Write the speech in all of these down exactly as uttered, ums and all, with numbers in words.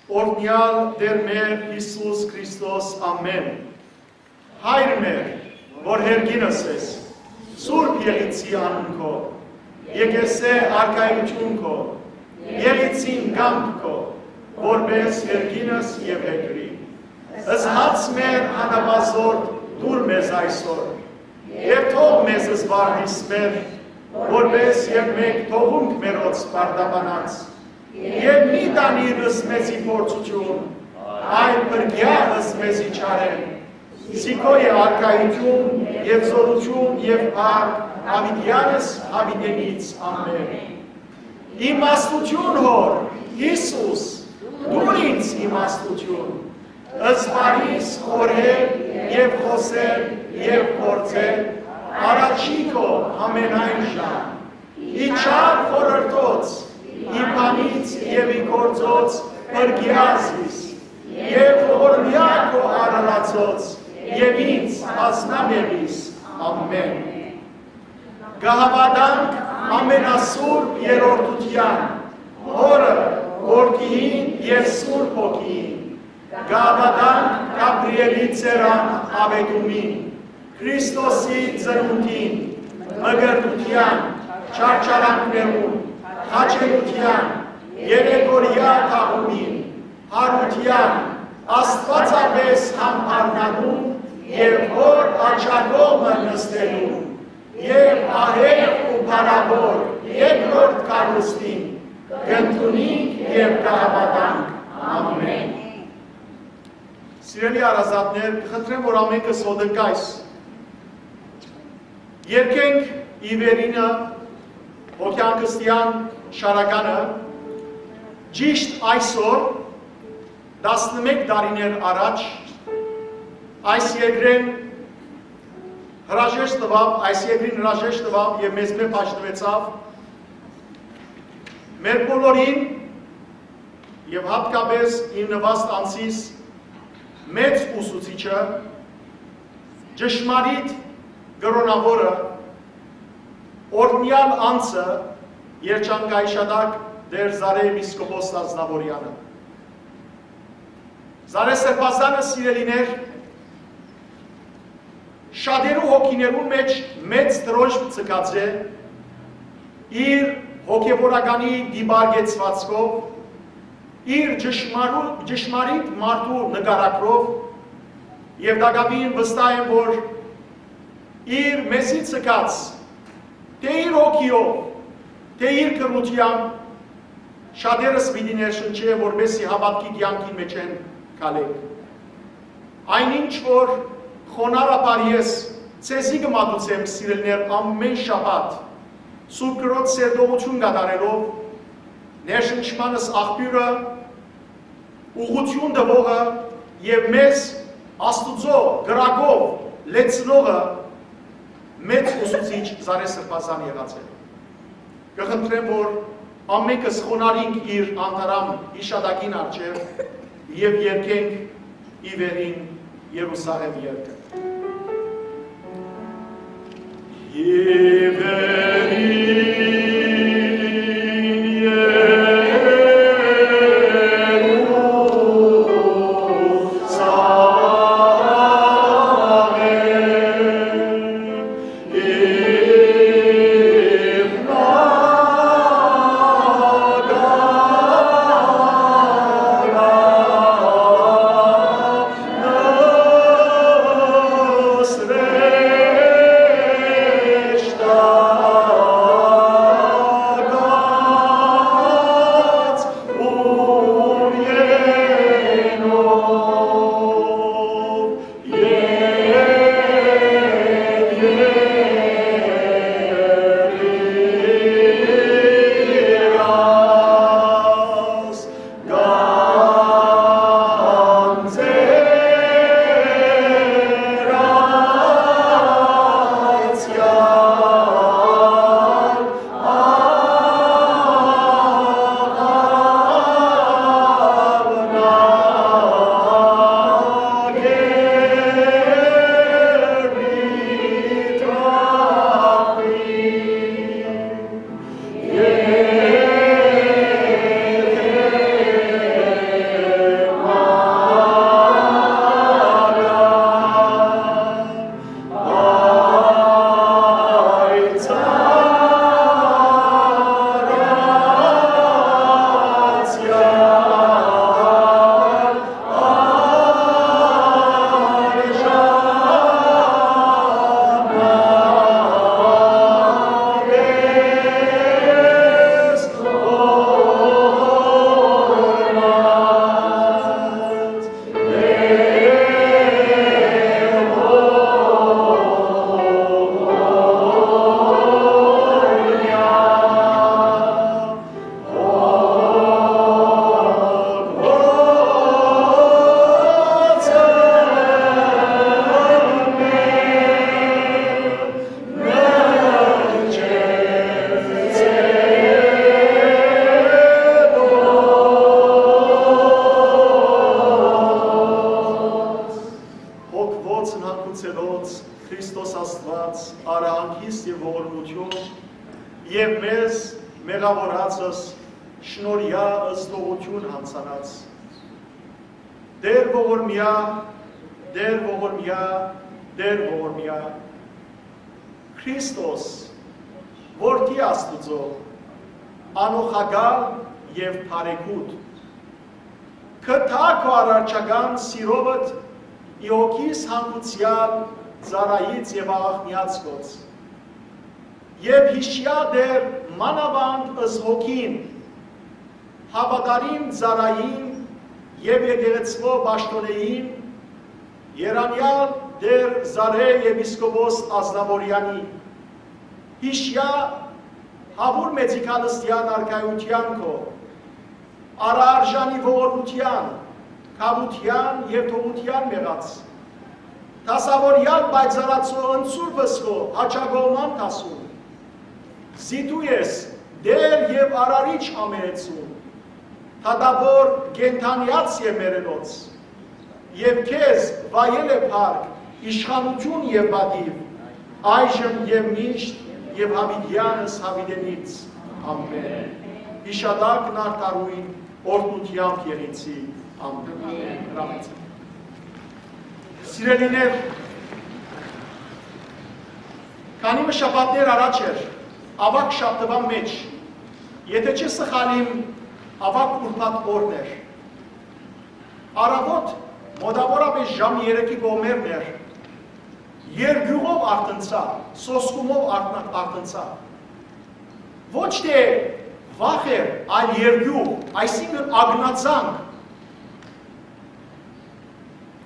Օրհնեալ Տէր մեր Յիսուս Քրիստոս, ամէն։ Հայր մեր, որ երկինս ես, սուրբ եղիցի անուն քո, եկեսէ արքայութիւն քո, եղիցին կամք քո, որպես երկինս եւ երկրի։ Ըսած մեր անապազորդ դուր մեզ այսօր, եւ թող մեզ զբաղվիս մեր, որպես եւ մեկ թողունք մերոց պարտաբանած, եւ մի տանիր մեզի փորձութիւն, այլ փրկեա մեզի չարէն։ Զի քո է արքայութիւն եւ զօրութիւն եւ փառք, յաւիտեանս յաւիտենից։ Ամէն։ Իմաստութիւն, Հօր, Յիսուս, տուր ինձ իմաստութիւն, զբաղիս խորհել եւ խօսել եւ գործել առաջի քո ամենայն ժամ։ Ի չար խորհրդոց, ի բանից եւ ի գործոց փրկեա զիս, եւ ողորմեա քո արարածոց, եւ ինձ բազմամեղիս։ Ամէն։ Կը հաւատանք ամենասուրբ երրորդութեան, Հօրը, Որդիին եւ Սուրբ Հոգիին։ Կը հաւատանք Գաբրիէլի ծերան աւետումին, Քրիստոսի ծնունդին, մկրտութեան, չարչարանքներուն, խաչելութեան, երեկորեայ թաղումին, յարութեան, աստուածապէս համբարնալուն եւ Հօր աջակողմը նստելուն, եւ ահեղ ու փառաւոր երկրորդ գալուստին կ'ընդունինք եւ կը հաւատանք։ Ամէն։ Սիրելի հարազատներ, կը խնդրեմ, որ ամէնքս հոդընկայս։ Երկենք ի վերինը հոգեհանգստեան շարականը, ճիշտ այսօր, տասնմէկ տարիներ առաջ, այս երկրին հրաժեշտ տուաւ, այս երկրին հրաժեշտ տուաւ եւ մեզմէ բաժնուեցաւ, մեր բոլորին եւ յատկապէս իմ նուաստ անձիս մեծ ուսուցիչը, ճշմարիտ կրօնաւորը, օրհնեալ անձը, երջանկայիշատակ Տէր Զարեհ եպիսկոպոս Ազնաւորեանը։ Զարեհ Սրբազանը, սիրելիներ, շատերու հոգիներուն մէջ մեծ դրոշմ ձգած է իր հոգեվորականի դիպարկեցուածքով, իր ճշմարու-, ճշմարիտ մարդու նկարագրով, եւ տակաւին վստահ եմ, որ իր մեզի ձգած, թէ իր հոգիով, թէ իր գրութեամբ, շատերս պիտի ներշնչէ, որպեսզի հաւատքի կեանքին մէջէն քալէք։ Այն ինչ որ խոնարհաբար ես ձեզի կը մատուցեմ, սիրելիներ, ամէն շաբաթ Սուրբ Գրոց սերտողութիւն կատարելով, ներշնչմանս աղբիւրը, ուղղութիւն տուողը եւ մեզ Աստուծոյ կրակով լեցնողը մեծ ուսուցիչ Զարեհ Սրբազան եղած է։ Կը խնդրեմ, որ ամէնքս խոնարհինք իր անթարամ յիշատակին առջեւ եւ երգենք ի վերին Երուսաղէմ երգը։ Մեղաւորացս շնորհեայ ըստ ողջուն յանցանած։ Տէր ողորմեայ, Տէր ողորմեայ, Տէր ողորմեայ։ Քրիստոս, Որդի Աստուծոյ, անօղակալ եւ բարեգութ, կթա քու առարչական սիրովդ ի հոգիս հանգուցեալ ծառայից եւ աղաղնեալ գոց։ Եւ յիշեայ Տէր մանաւանդ ըս հոգին, հաւատարիմ ծառային եւ եկեղեցւոյ պաշտօնէին, երանեալ Տէր Զարէ եպիսկոպոս Ազնաւորեանի, յիշեայ Յաւուր Մեծի Քալստեան արքայութեան քո, Արարժանի ողորմութեան, քաւութեան եւ թողութեան մեղաց, դասաւորեալ պայծառացոյ ընցուրպս քո յաճակողման դասուն, զիդու ես Տէր եւ Արարիչ ամէնեցուն, դատաւոր կենդանեաց եւ մեռելոց, եւ քեզ վայել է փառք, իշխանութիւն եւ պատիւ, այժմ եւ միշտ եւ յաւիտեանս յաւիտենից։ Ամէն։ Յիշատակն արդարոյն օրհնութեամբ եղեցի։ Ամէն։ Հրամեցեք։ Սիրելիներ, քանի մը շաբաթներ առաջ էր, աւագ շաբթուան մէջ, եթէ չեմ սխալիր, աւագ ուրբաթ օրն էր։ Առաւօտ, մօտաւորապէս ժամ երեքի կողմերն էր, երկիւղով արթնցայ, սոսկումով արթնա-, արթնցայ։ Ոչ թէ վախ էր, այլ երկիւղ, այսինքն՝ ակնածանք։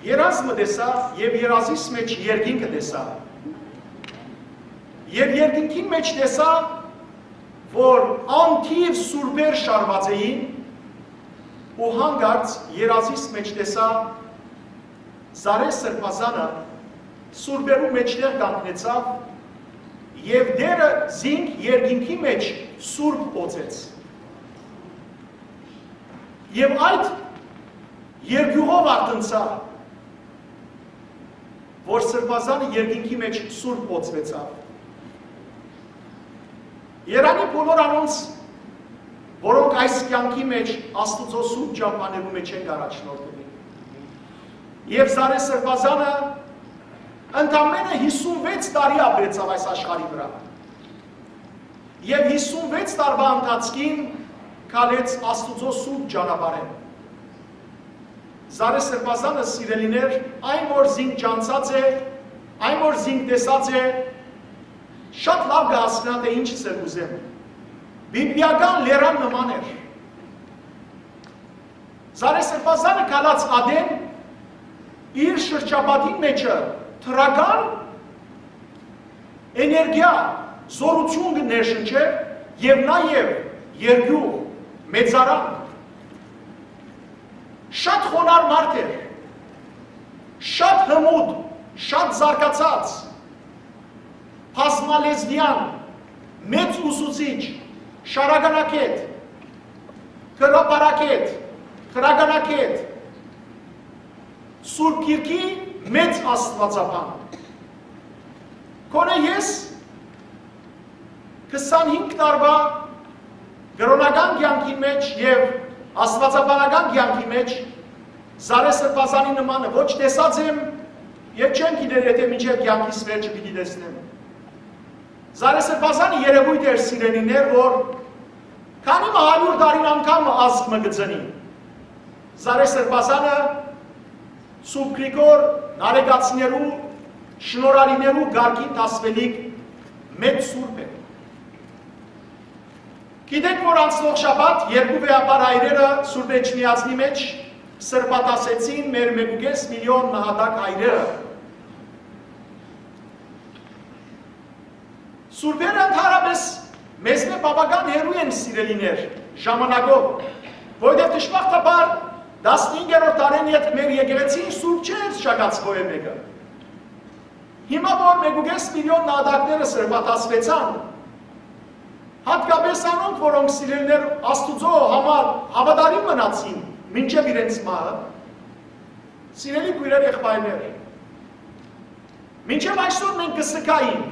Երազ մը տեսայ եւ երազիս մէջ երկինքը տեսայ։ Եւ երկինքին մէջ տեսայ, որ անթիւ սուրբեր շարուած էին, ու հանկարծ երազիս մէջ տեսայ Զարէ սրբազանը սուրբերու մէջտեղ կանգնեցաւ, եւ Տէրը զինք երկինքի մէջ սուրբ օծեց։ Եւ այդ երկիւղով արթնցայ, որ սրբազանը երկինքի մէջ սուրբ օծուեցաւ։ Երանի բոլոր անոնց, որոնք այս կեանքի մէջ Աստուծոյ սուրբ ճամբաներու մէջ են, կ'առաջնորդուին։ Եւ Զարէ սրբազանը ընդամենը հիսուն վեց տարի ապրեցաւ այս աշխարհի վրայ։ Եւ հիսուն վեց տարուա ընթացքին քալեց Աստուծոյ սուրբ ճանապարհը։ Զարէ սրբազանը, սիրելիներ, այն որ զինք ճանչցած է, այն որ զինք տեսած է, շատ լաւ կը հասկնայ, թէ ինչ ըսել կ'ուզեմ։ Բիբլիական լերան նման էր։ Զարէ սրբազանը քալած ատեն իր շրջապատին մէջը դրական էներգիա, զօրութիւն կը ներշնչէր եւ նաեւ երկիւղ, մեծարան։ Շատ խոնար մարդ էր, շատ հմուտ, շատ զարգացած, բազմալեզուեան, մեծ ուսուցիչ, շարականակետ, գրաբարագէտ, գրականագէտ, Սուրբ Գիրքի մեծ աստուածաբան։ Գոնե ես քսանհինգ տարուա կրօնական կեանքին մէջ եւ աստուածաբանական կեանքի մէջ Զարէ սրբազանի նմանը ոչ տեսած եմ եւ չեմ գիտեր, եթէ մինչեւ կեանքիս վերջը պիտի տեսնեմ։ Զարէ սրբազանը երեւոյթ էր, սիրելիներ, որ քանի մը հարիւր տարին անգամ մը ազգ մը կը ծնի։ Զարէ սրբազանը Սուրբ Գրիգոր Նարեկացիներու, շնորհալիներու կարգին դասուելիք մեծ սուրբ է։ Գիտեք, որ անցնող շաբաթ երկու վեհափառ հայրերը Սուրբ Էջմիածնի մէջ սրբադասեցին մեր մէկ ու կէս միլիոն նահատակ հայրերը։ Սուրբերը ընդհանրապես մեզմէ բաւական հեռու են, սիրելիներ, ժամանակով, որովհետեւ դժբախտաբար տասնհինգերորդ դարէն ետք մեր եկեղեցին սուրբ չէր շագած ոեւէ մէկը։ Հիմա որ մէկ ու կէս միլիոն նահատակները սրբադասուեցան, յատկապես անոնք, որոնք, սիրելիներ, Աստուծոյ համար հաւատարիմ մնացին մինչեւ իրենց մահը, սիրելի քոյրեր, եղբայրներ, մինչեւ այսօր մենք կը սգայինք,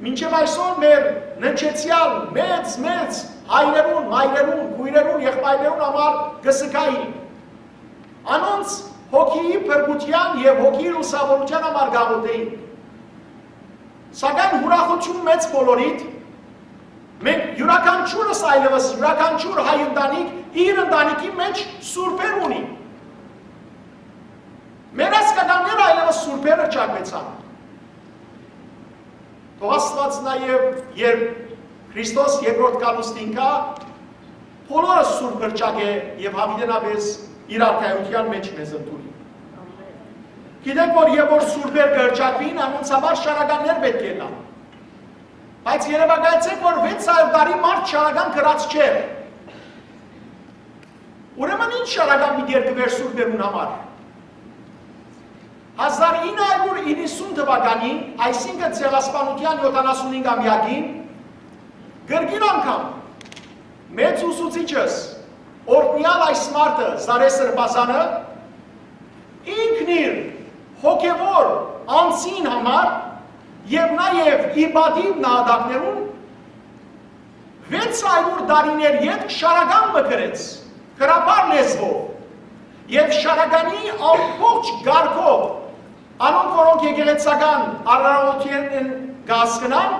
մինչեւ այսօր մեր ննջեցեալ մեծ, մեծ հայրերուն, մայրերուն, քոյրերուն, եղբայրներուն համար կը զգայի։ Անոնց հոգիի փրկութեան եւ հոգիի լուսաւորութեան համար կ'աղօթէի։ Սակայն ուրախութիւն մեծ բոլորիդ, մենք յուրաքանչիւրս այլեւս, յուրաքանչիւր հայ ընտանիք իր ընտանիքի մէջ սուրբեր ունի։ Մեր ազգականները այլեւս սուրբեր հռչակուեցան։ Թող Աստուած նաեւ, երբ Քրիստոս երկրորդ գալուստին գայ, բոլորը սուրբ հռչակէ եւ յաւիտենապէս իր արքայութեան մէջ մեզ ընդունի։ Գիտենք, որ երբ որ սուրբեր կը հռչակուին, անոնց համար շարականներ պէտք է ըլլան։ Բայց երեւակայեցէք, որ վեց հարիւր տարի մարդ շարական կրած չէ։ Ուրեմն ի՞նչ շարական պիտի երկուէր սուրբերուն համար։ Հազար ինը հարիւր իննսուն թուականին, այսինքն Ցեղասպանութեան յոթանասունհինգ ամեակին, կրկին անգամ մեծ ուսուցիչս, օրհնեալ այս մարդը, Զարե Սրբազանը, ինքն իր հոգեւոր անձին համար եւ նաեւ ի պատիւ նահատակներուն վեց հարիւր տարիներ ետք շարական մը գրեց, գրաբար լեզուով, եւ շարականի ամբողջ կարգով, անոնք, որոնք եկեղեցական արարողութիւններէն կ'հասկնան,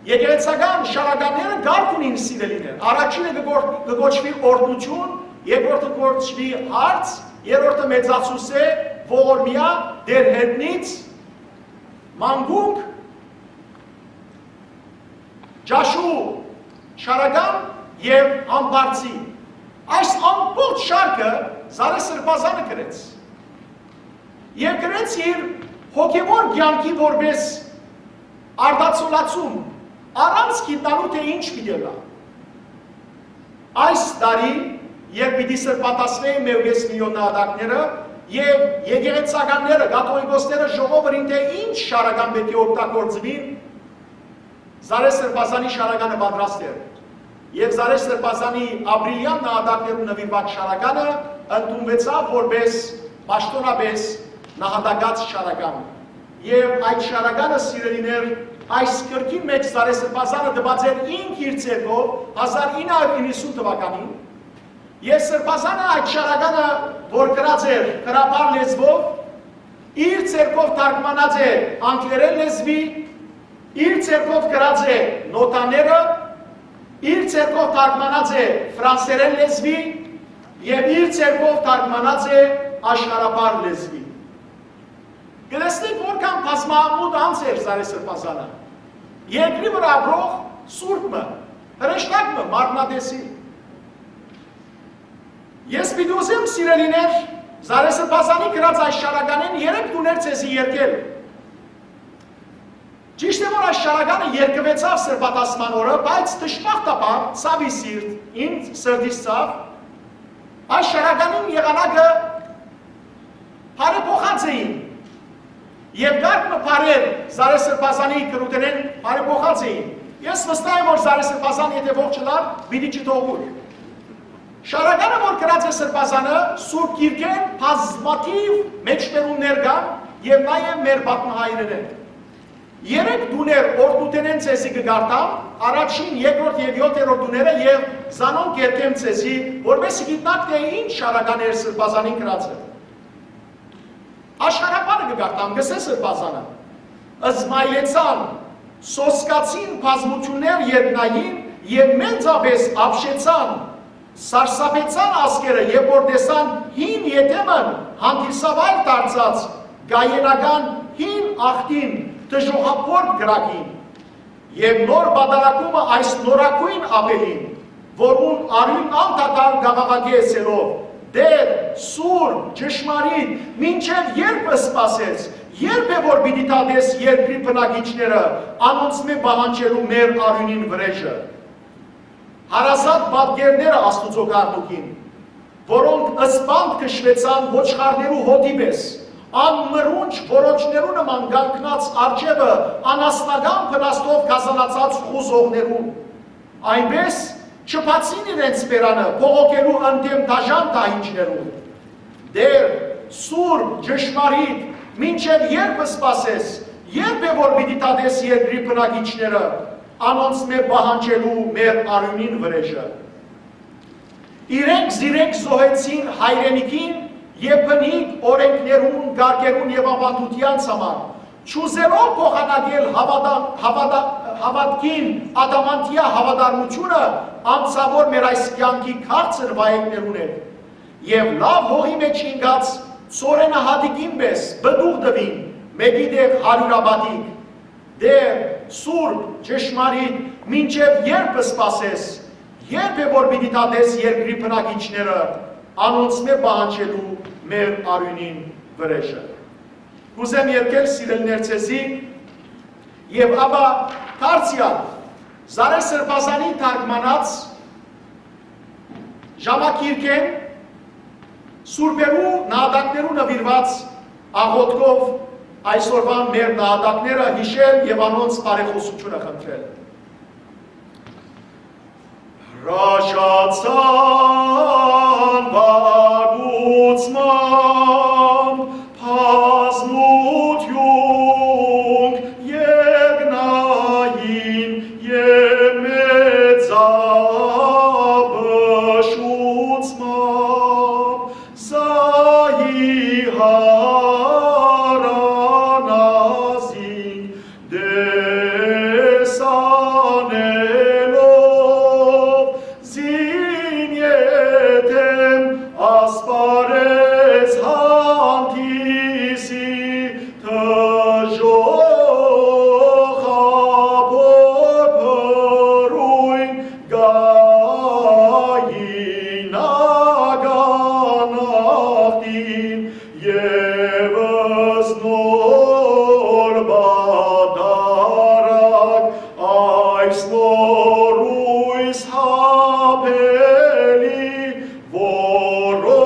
եկեղեցական շարականները կարգ ունին, սիրելիներ։ Առաջինը կը գոր-, կը կոչուի օրհնութիւն, երկրորդը կը կոչուի հարց, երրորդը մեծացուս է, ողորմեայ, դեր հետնից, մանկունք, ճաշու, շարական եւ ամբարձի։ Այս ամբողջ շարքը Զարե Սրբազանը գրեց։ Եւ գրեց իր հոգեւոր կեանքի որպէս արտացոլացում, առանց գիտնալու, թէ ինչ պիտի ըլլայ։ Այս տարի, երբ պիտի սրբատասվէին մէկ ու կէս միլիոն նահատակները, եւ եկեղեցականները, կաթողիկոսները ժողովուրդին, թէ ինչ շարական պէտք է օգտագործուին, Զարե Սրբազանի շարականը պատրաստ էր։ Եւ Զարե Սրբազանի ապրիլեան նահատակներուն նուիրուած շարականը ընդունուեցաւ որպէս պաշտօնապէս նահատակաց շարական։ Եւ այդ շարականը, սիրելիներ, այս կրկին մէջ Զարե Սրբազանը տուած էր ինք իր ձեռքով հազար ինը հարիւր իննսուն թուականին։ Եւ Սրբազանը այդ շարականը, որ գրած էր գրաբար լեզուով, իր ձեռքով թարգմանած է անգլերեն լեզուի, իր ձեռքով գրած է նոտաները, իր ձեռքով թարգմանած է ֆրանսերեն լեզուի եւ իր ձեռքով թարգմանած է աշխարհաբար լեզուի։ Կտեսնենք, որքան բազմամուտ անձ էր Զարե Սրբազանը։ Երկրի վրայ ապրող սուրբ մը, հրեշտակ մը, մարմնատեսիլ։ Ես պիտի ուզեմ, սիրելիներ, Զարե Սրբազանի գրած այս շարականէն երեք տուներ ձեզի երկել։ Ճիշդ է, որ այս շարականը երկուեցաւ սրբատասման օրը, բայց դժբախտաբար, ցաւի սիրտ, իմ սրտիս ցաւ, այս շարականին եղանակը բարեփոխած էին։ Եւ կարգ մը բառեր Զարե Սրբազանի գրութենէն բարեփոխած էին։ Ես վստահ եմ, որ Զարե Սրբազան, եթէ ողջ ըլլար, պիտի չթողուր։ Շարականը, որ գրած է Սրբազանը, Սուրբ Գիրքէն բազմաթիւ մեջբերումներ կան եւ նաեւ մեր պատմահայրերէն։ Երեք տուներ օրհնութենէն ձեզի կը կարդամ, առաջին, երկրորդ եւ յոթերորդ տուները, եւ զանոնք կերթեմ ձեզի, որպեսզի գիտնաք, թէ ինչ շարական էր Սրբազանին գրածը։ Աշխարհաբանը կը կարդամ, կ'ըսէ Սրբազանը. «Զմայլեցան, սոսկացին բազմութիւններ երկնային եւ մեծապէս ապշեցան, սարսափեցան ազգերը, երբ որ տեսան հին եթէ մը հանդիսավար դարձած կայենական հին ախտին դժոխափոր կրակին։ Եւ նոր պատարագումը այս նորագոյն աբելին, որուն արիւնն անդադար կ'աղաղակէ ըսելով. "Տէր, սուր, ճշմարիտ, մինչեւ ե՞րբ սպասես, ե՞րբ է որ պիտի դատես երկրի բնակիչները անոնցմէ պահանջելու մեր արիւնին վրէժը"։ Հարազատ պատկերները Աստուծոյ գառնուկին, որոնք սպանդ քշուեցան ոչխարներու հոտի պէս, անմրունչ որոջներու նման կանգնած առջեւը անասնական փնաստով գազանացած խուզողներուն, այնպէս չբացին իրենց բերանը բողոքելու ընդդեմ դաժան դահիճներուն։ Տէր, սուրբ, ճշմարիտ, մինչեւ ե՞րբ սպասես, ե՞րբ է որ պիտի դատես երկրի բնակիչները, անոնցմէ պահանջելու մեր արիւնին վրէժը։ Իրենք զիրենք զոհեցին հայրենիքին եւ բնիկ օրէնքներուն, կարգերուն եւ աւանդութեանց համար, չուզելով փոխանակել հաւատա-, հաւատա-, հաւատքին ադամանդեայ հաւատարմութիւնը անցաւոր մեր այս կեանքի քաղցր վայեկներուն հետ, եւ լաւ հողի մէջ ինկած ծորենահատիկին պէս պտուղ տուին, մէկի տեղ հարիւրապատիկ։ Տէր, սուրբ, ճշմարիտ, մինչեւ ե՞րբ սպասես, ե՞րբ է որ պիտի դատես երկրի բնակիչները անոնցմէ պահանջելու մեր արիւնին վրէժը։ Կ'ուզեմ երգել, սիրելիներ, ձեզի, եւ ապա դարձեալ Զարէ Սրբազանի թարգմանած ժամագիրքէն սուրբերու նահատակներու նուիրուած աղօթքով այսօրվան մեր նահատակները յիշել եւ անոնց բարեխօսութիւնը խնդրել։ Հրաժարցան վարդուցմամբ բազմութիւն եկնային եւ մեծաբշուցմամբ զահի յարանազին տեսանելով զին ետեմ ասպարէզ հանդիսի դժոխ աբոր փռոյն գային ականախտին, եւս նոր պատարագ այս նորույս յապելի, որո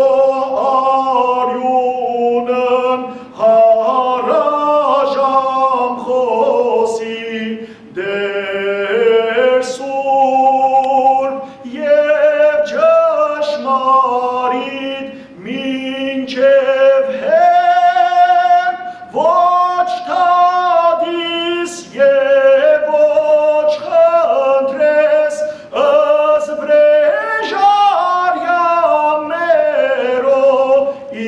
արիւնն հարաժամ խօսի, Տէր սուրբ եւ ճշմարիտ մինչեւ հեռ, ոչ դատիս եւ ոչ խնդրես, ըստ վրէժարեան մերոյ, ի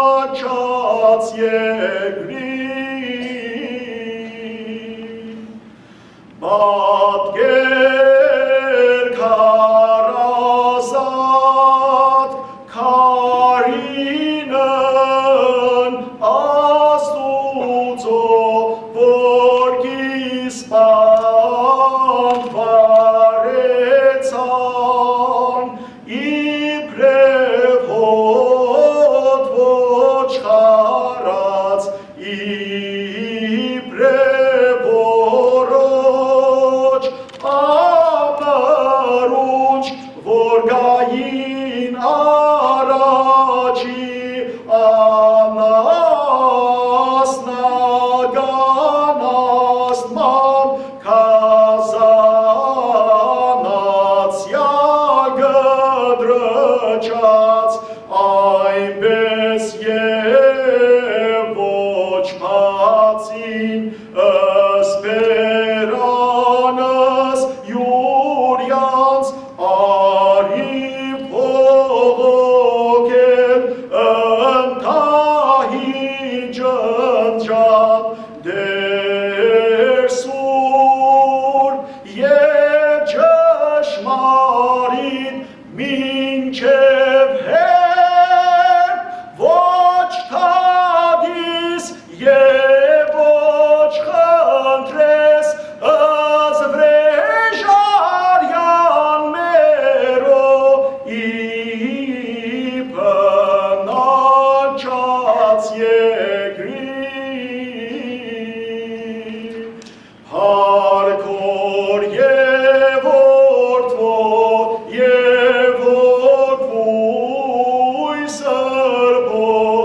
բնակած երկրին։ Պատկեր քարազատ քարինն Աստուծոյ, որ կ'իսպան վառեցան, իբրեւ հոտ ոչխարաց, իբրեւ որոջ ամրունջ, որ կային առաջի անասնական աստմամբ, քազանացեալ կտրուած, այնպէս եւ ոչ բացին, սպերանս յուրեանց արի բողոքել, ընտահի ջնջան, Տէր սուրբ եւ ճշմարիտ մինչեւ հեռ, ոչ դատիս եւ ոչ խնդրես, ըստ վրէժարեան մերոյ, ի բնակած երկրին։ Հարկոր եւ որդւոյ եւ որդւոյ սրբոյ,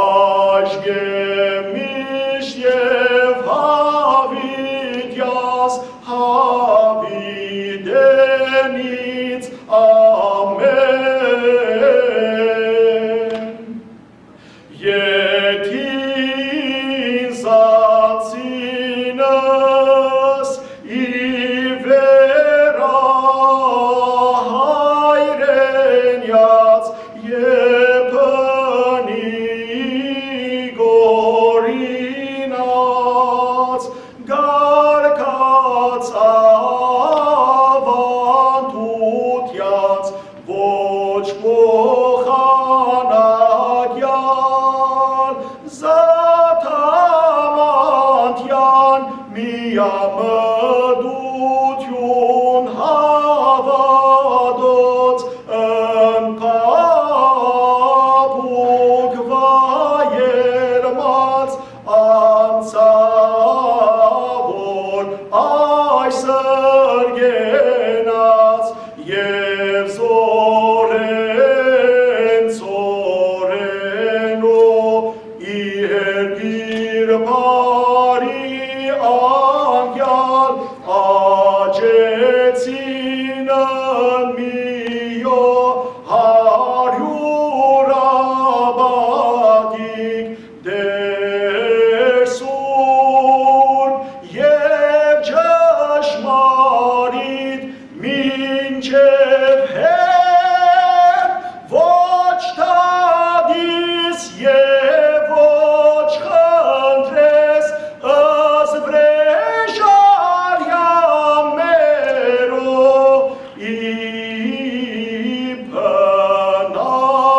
այժմ եւ միշտ եւ յաւիտեանց, յաւիտենից, ամէն։ Ետին զանցի Տուտեանց ոչ փոխանակեալ զատամանտեան միամտութիւն հաւատոց ընկապուկ վայելմած անցաւոր այսր կենաց եւ զօրեն, զօրենու երկիր բարի անկեալ աճեցին միո հարիւր աբատիկ Տէր սուրբ եւ ճշմարիտ մինչեւ հեռ, ոչ դատիս եւ ոչ խնդրես ըստ վրէժարեան մերու, ի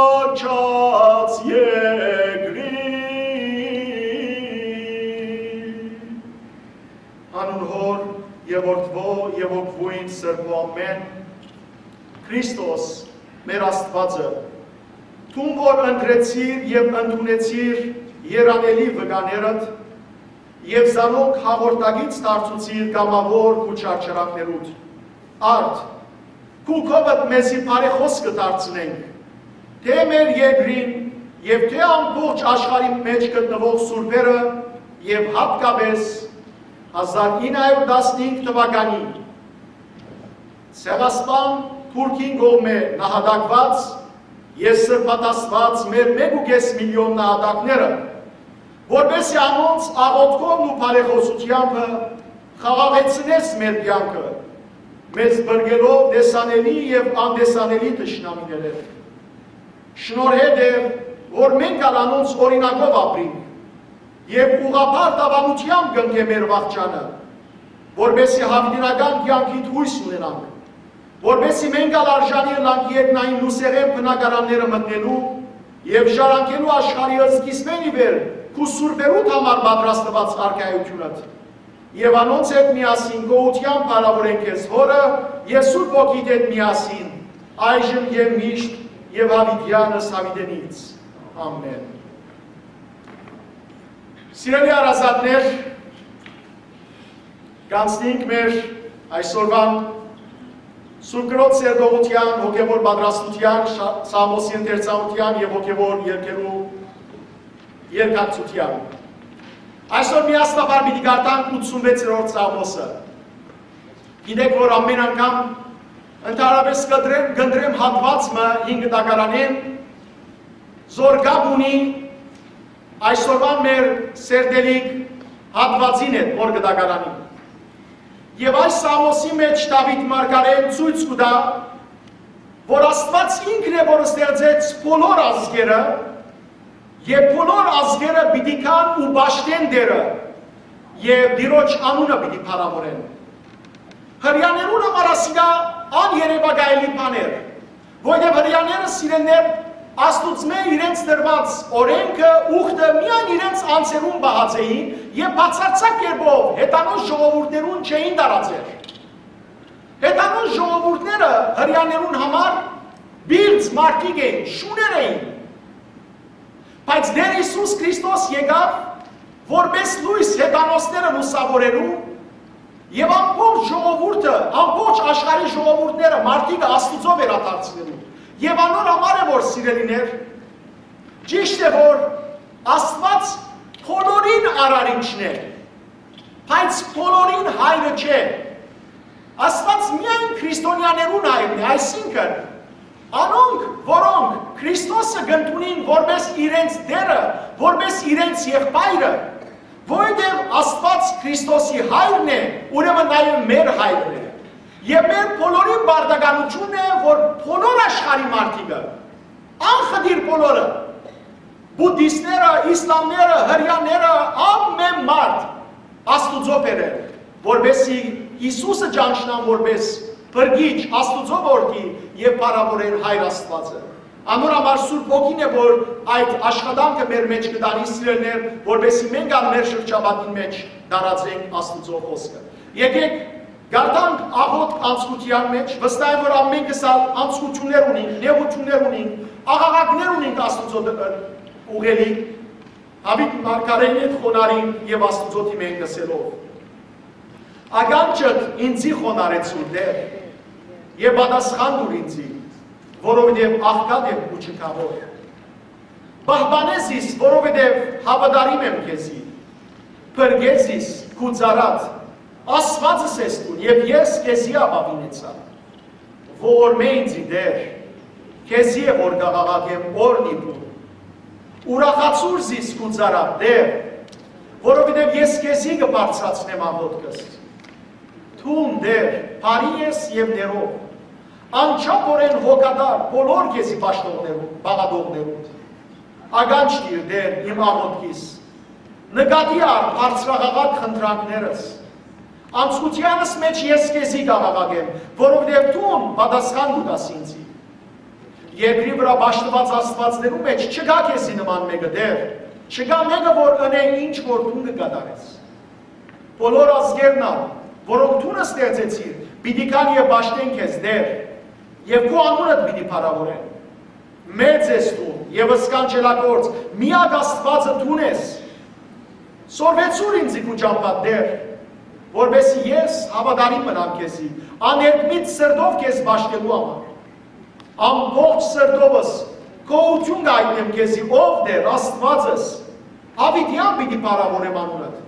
բնակչաց երկրի։ Անուն Հօր եւ Որդւոյ եւ Հոգւոյն Սրբոյ ամէն։ Քրիստոս, մեր Աստուածը, դուն որ ընտրեցիր եւ ընդունեցիր երանելի վկաներդ եւ զանոնք հաղորդակից դարձուցիր կամաւոր քու չարչարանքներուդ, արդ, քու քովդ մեզի բարեխօսքը դարձնենք, թէ մեր երկրին եւ թէ ամբողջ աշխարհի մէջ գտնուող սուրբերը եւ յատկապէս հազար ինը հարիւր տասնհինգ թուականին Ցեղասպան Թուրքին կողմէ նահատակուած եւ սրբադասուած մեր մէկ ու կէս միլիոն նահատակները, որպէս զի անոնց աղօթքովն ու բարեխօսութեամբը խաղաղեցնես մեր կեանքը, մեզ բրկելով տեսանելի եւ անտեսանելի թշնամիներէն։ Շնորհէ Տէր, որ մենք ալ անոնց օրինակով ապրինք եւ ուղղափառ դաւանութեամբ կ'ընկե մեր վախճանը, որպէս զի յաւիտենական կեանքիդ յոյս ունենանք, որպէս զի մենք ալ արժանի ըլլանք երկնային լուսեղէն բնակարանները մտնելու եւ ժառանգելու աշխարհի սկիզբէն ի վեր քու սուրբերուդ համար պատրաստուած արքայութիւնդ։ Եւ անոնց հետ միասին գոհութեան փառաւորենք քեզ Հօրը եւ Սուրբ Հոգիդ հետ միասին, այժմ եւ միշտ եւ յաւիտեանս յաւիտենից։ Ամէն։ Սիրելի հարազատներ, կանցնենք մեր այսօրվան Սուրբ Կրոջ սերտողութեան, հոգեւոր պատրաստութեան, շա-, Սաղմոսի ընթերցանութեան եւ հոգեւոր երկերու երկակցութեան։ Այսօր միասնաբար պիտի կարդանք ութսունվեցերորդ Սաղմոսը։ Գիտեք, որ ամէն անգամ ընդհանրապէս կընտրեմ, կընտրեմ հատուած մը հին կտակարանէն, զոր կապ ունի այսօրվան մեր սերտելիք հատուածին հետ, որ կտակարանի։ Եւ այս Սաղմոսի մէջ Դաւիթ մարգարեն ցոյց կու տայ, որ Աստուած ինքն է, որ ստեղծեց բոլոր ազգերը, եւ բոլոր ազգերը պիտի գան ու պաշտեն Տէրը եւ Տիրոջ անունը պիտի փառաւորեն։ Հրեաներուն համար ասիկա աներևակայելի բան էր, որովհետեւ հրեաները, սիրելիներ, Աստուծմէ իրենց տրուած օրէնքը, ուխտը միայն իրենց անձերուն պահած էին եւ բացարձակ կերպով հեթանոս ժողովուրդներուն չէին տարածեր։ Հեթանոս ժողովուրդները հրեաներուն համար պիղծ մարդիկ էին, շուներ էին։ Բայց Տէր Յիսուս Քրիստոս եկաւ որպէս լոյս հեթանոսները լուսաւորելու եւ ամբողջ ժողովուրդը, ամբողջ աշխարհի ժողովուրդները մարդիկը Աստուծոյ վերադարձնելու։ Եւ անոր համար է, որ, սիրելիներ, ճիշդ է, որ Աստուած բոլորին արարիչն է, բայց բոլորին հայրը չէ։ Աստուած միայն քրիստոնյաներուն հայրն է, այսինքն, անոնք, որոնք Քրիստոսը կ'ընդունին որպէս իրենց Տէրը, որպէս իրենց եղբայրը, որովհետեւ Աստուած Քրիստոսի հայրն է, ուրեմն նաեւ մեր հայրն է։ Եւ մեր բոլորին պարտականութիւնն է, որ բոլոր աշխարհի մարդիկը, անխտիր բոլորը, բուդդիստները, իսլամները, հրեաները, ամէն մարդ Աստուծոյ բերեն, որպէս զի Յիսուսը ճանչնան որպէս Փրկիչ, Աստուծոյ Որդի եւ փառաւորէն Հայր Աստուածը։ Անոր համար Սուրբ Հոգին է, որ այդ աշխատանքը մեր մէջ կը տանի, սիրելիներ, որպեսզի մենք ալ մեր շրջապատին մէջ տարածենք Աստուծոյ խօսքը։ Եկեք կարդանք աղօթք անցկութեան մէջ, վստահ եմ, որ ամենքս ալ անցկութիւններ ունինք, նեղութիւններ ունինք, աղաղակներ ունինք Աստուծոյ դ-, ուղղելիք, Դաւիթ մարգարէին հետ խոնարհին եւ Աստուծոյ դիմեն ըսելով. «Ականջդ ինծի խոնարհեցուր, Տէր, եւ պատասխան տուր ինծի, որովհետեւ աղքատ եմ ու չքաւոր։ Պահպանէ զիս, որովհետեւ հաւատարիմ եմ քեզի։ Փրկէ զիս, քու ծառադ, Աստուածս ես դուն, եւ ես քեզի ապաւինեցայ։ Ողորմէ ինծի, Տէր, քեզի է որ կ'աղաղակեմ օրն ի պուն։ Ուրախացուր զիս, քու ծառադ, Տէր, որովհետեւ ես քեզի կը բարձրացնեմ աղօթքս։ Դուն, Տէր, բարի ես եւ ներող, անչափօրէն հոգատար բոլոր քեզի պաշտողներուն, պաղատողներուն։ Ականջ տիր, Տէր, իմ աղօթքիս, նկատի առ բարձրաղաղակ խնդրանքներս։ Անցկութեանս մէջ ես քեզի կ'աղաղակեմ, որովհետեւ դուն պատասխան կու տաս ինձի։ Երկրի վրայ պաշտուած աստուածներու մէջ չկայ քեզի նման մէկը, Տէր, չկայ մէկը, որ ընէ ինչ որ դուն կը կատարես։ Բոլոր ազգերն ալ, որոնք դուն ստեղծեցիր, պիտի գան եւ պաշտեն քեզ, Տէր, եւ քու անունդ պիտի փառաւորեն։ Մեծ ես դուն եւ սքանչելագործ, միակ Աստուածը դուն ես։ Սորվեցուր ինձի քու ճամբադ, Տէր, որպեսզի ես հաւատարիմ մնամ քեզի, աներկմիտ սրտով քեզ պաշտելու համար։ Ամբողջ սրտովս գոհութիւն կ'այտնեմ քեզի, ով Տէր, Աստուածս, յաւիտեան պիտի փառաւորեմ անունդ,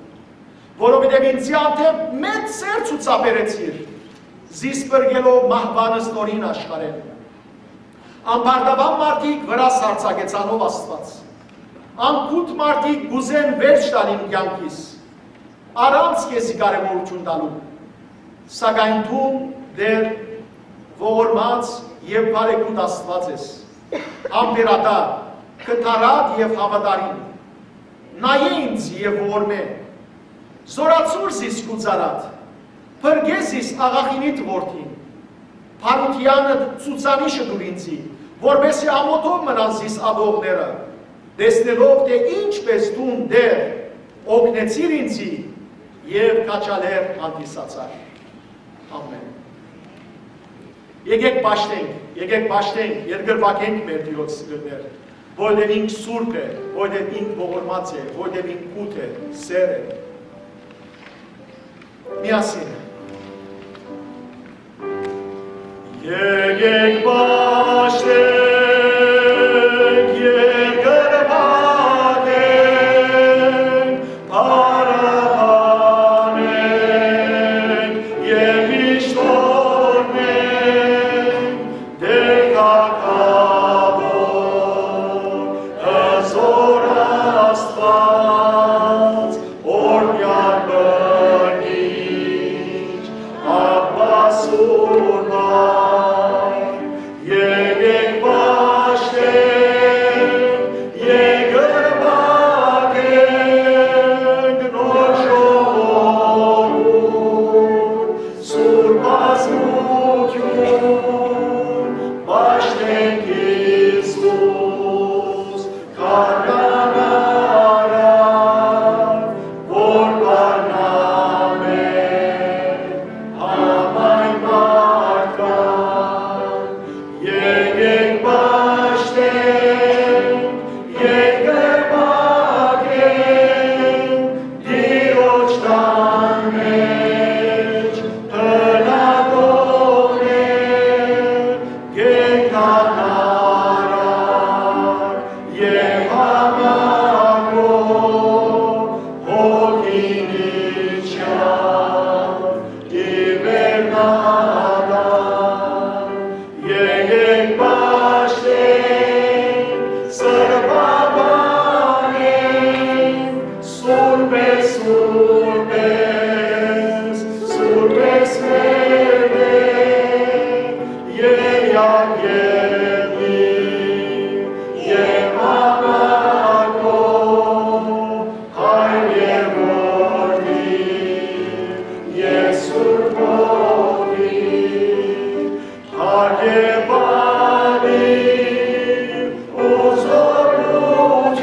որովհետեւ ինձի հանդէպ մեծ սեր ցուցաբերեցիր, զիս փրկելով մահուան ստորին աշխարհէն։ Անբարտաւան մարդիկ վրաս յարձակեցան, ով Աստուած։ Անկութ մարդիկ կ'ուզեն վերջ տալ իմ կեանքիս, առանց քեզի կարեւորութիւն տալու։ Սակայն դուն, Տէր, ողորմած եւ բարեգութ Աստուած ես, համբերատար, կդարատ եւ հաւատարիմ։ Նայէ ինձ եւ ողորմէ։ Զօրացուր զիս քու ծառադ, փրկէ զիս աղախինիդ որդին։ Բարութեանդ ցուցանիշը տուր ինձի, որպեսզի ամօթով մնան զիս ատողները, տեսնելով թէ ինչպէս դուն, Տէր, օգնեցիր ինձի եւ քաջալեր հանդիսացար։ Ամէն։ Եկեք պաշտենք, եկեք պաշտենք, երկրպագենք մեր Տիրոջ, սիրելիներ, որովհետեւ ինք սուրբ է, որովհետեւ ինք ողորմած է, որովհետեւ ինք գութ է, սեր է։ Միասին։ Եկեք պաշտենք, երկրպագենք, փառաբանենք եւ միշտ օրհնենք Տեր թագաւոր, հզօր Աստուած, օրհնեալ բնիչ, Աբբա սուրբ Հայր, եկեք պաշտենք, երկրպագենք նոր ժողովուրդ, սուրբ բազմութիւն, պաշտենք Յիսուս, գարնան արար, որ գարնան մէջ համայն մարդկանց, եկեք պաշտենք, երկրպագենք Տիրոջ տան մէջ բնակողներ, կենդանարար եւ համակոր հոգին իջան ի վերնատան։ Եկեք պաշտենք, սրբաբանենք, սուրբ է, սուրբ ես, սուրբ ես մեր Տեր, Եղեալ եղնիկ եւ համակոր, Հայր եւ Որդի եւ Սուրբ Հոգի։ Կերպարի ու զօրութիւն,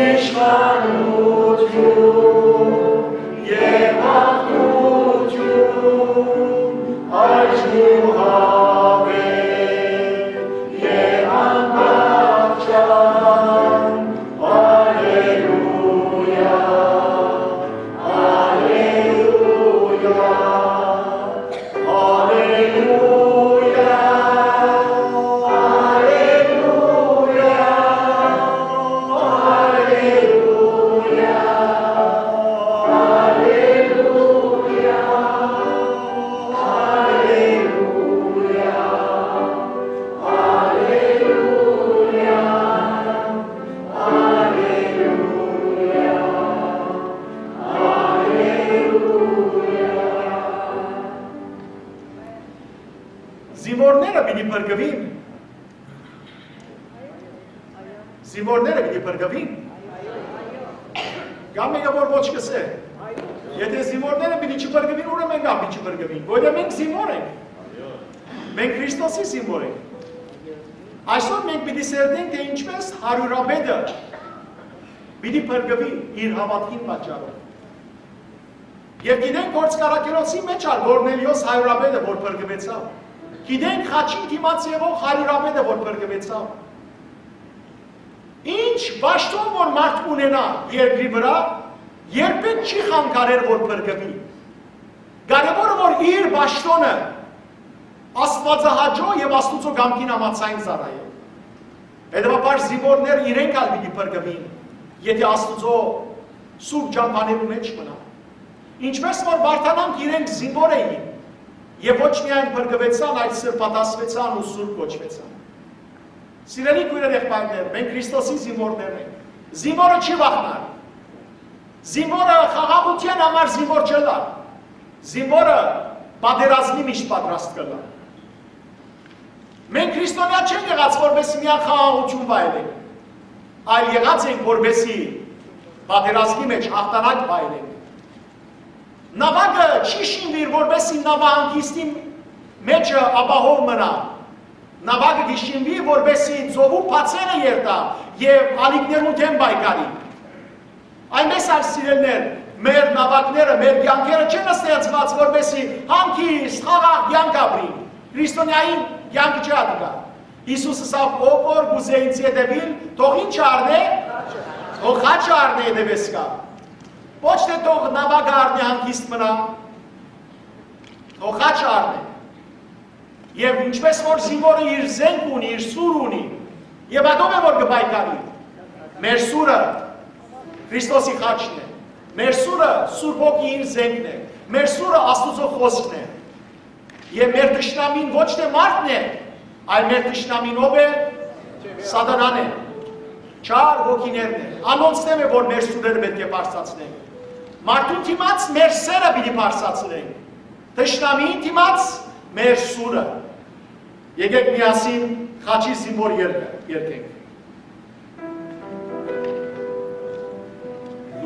իշխանութիւն եւ աղբիւրութիւն, այժմ ու հավէ, եւ անվախճան։ Ալելուիա, ալելուիա, ալելուիա, ալելուիա, ալելուիա, ալելուիա, ալելուիա, ալելուիա, ալելուիա, ալելուիա։ Զինուորները պիտի փրկուին։ Զինուորները պիտի փրկուին։ Կամ մէկը որ ոչ կ'ըսէ։ Եթե զինուորները պիտի չփրկուին, ուրեմն մենք ալ պիտի չփրկուին։ Որտէ մենք զինուոր ենք։ Մենք Քրիստոսի զինուոր ենք։ Այսօր մենք պիտի սերտենք, թէ ինչպէս հարիւրապետը պիտի փրկուի իր հաւատքին պատճառով։ Եւ գիտենք, Գործք առաքելոցի մէջ ալ Կորնելիոս հարիւրապետը որ փրկուեցաւ։ Գիտենք խաչին դիմաց եղող հարիւրապետը որ փրկուեցաւ։ Ինչ պաշտօն որ մարդ ունենայ երկրի վրայ, երբեք չի խանգարեր որ փրկուի։ Կարեւորը որ իր պաշտօնը աստուածահաճոյ եւ Աստուծոյ կամքին համաձայն ծառայէ։ Հետեւաբար զինուորները իրենք ալ պիտի փրկուին, եթե Աստուծոյ սուրբ ճամբաներու մէջ մնան։ Ինչպէս որ Վարդանանք իրենք զինուոր էին եւ ոչ միայն փրկուեցան, այլ սրբատասվեցան ու սուրբ կոչուեցան։ Սիրելի քոյրեր, եղբայրներ, մենք Քրիստոսի զինուորներն ենք։ Զինուորը չի վախնար։ Զինուորը խաղաղութեան համար զինուոր չըլլայ։ Զինուորը պատերազմի միշտ պատրաստ կ'ըլլայ։ Մենք քրիստոնեայ չենք եղած որպեսզի միայն խաղաղութիւն վայելենք, այլ եղած ենք որպեսզի պատերազմի մէջ հաղթանակ վայելենք։ Նաւակը չի շինուիր որպեսզի նաւահանգիստի մէջը ապահով մնայ։ Նաւակը կը շինուի որպեսզի ծովու բացերը երթայ եւ ալիքներուն դէմ պայքարի։ Այնպէս ալ, սիրելիներ, մեր նաւակները, մեր կեանքերը չեն ստեղծուած որպեսզի հանգիստ, խաղաղ կեանք ապրին։ Քրիստոնեային կեանքը չի ատիկա։ Յիսուս ըսաւ. «Ով որ կ'ուզէ ինծի հետեւիլ, թող ի՞նչ առնէ, թող խաչը առնէ, հետեւէս գայ»։ Ոչ թէ թող նաւակը առնէ, հանգիստ մնայ, թող խաչը առնէ։ Եւ ինչպէս որ զինուորը իր զենք ունի, իր սուր ունի, եւ ատով է որ կը պայքարի։ Մեր սուրը Քրիստոսի խաչն է։ Մեր սուրը Սուրբ Հոգին զենքն է։ Մեր սուրը Աստուծոյ խօսքն է։ Եւ մեր թշնամին ոչ թէ մարդն է, այլ մեր թշնամին ո՞վ է։ Սատանան է, չար հոգիներն են։ Անոնց դէմ է որ մեր սուրերը պէտք է բարձրացնենք։ Մարդուն դիմաց մեր սերը պիտի բարձրացնենք, թշնամիին դիմաց մեր սուրը։ Եկէք միասին խաչի զինուոր երգը երգենք։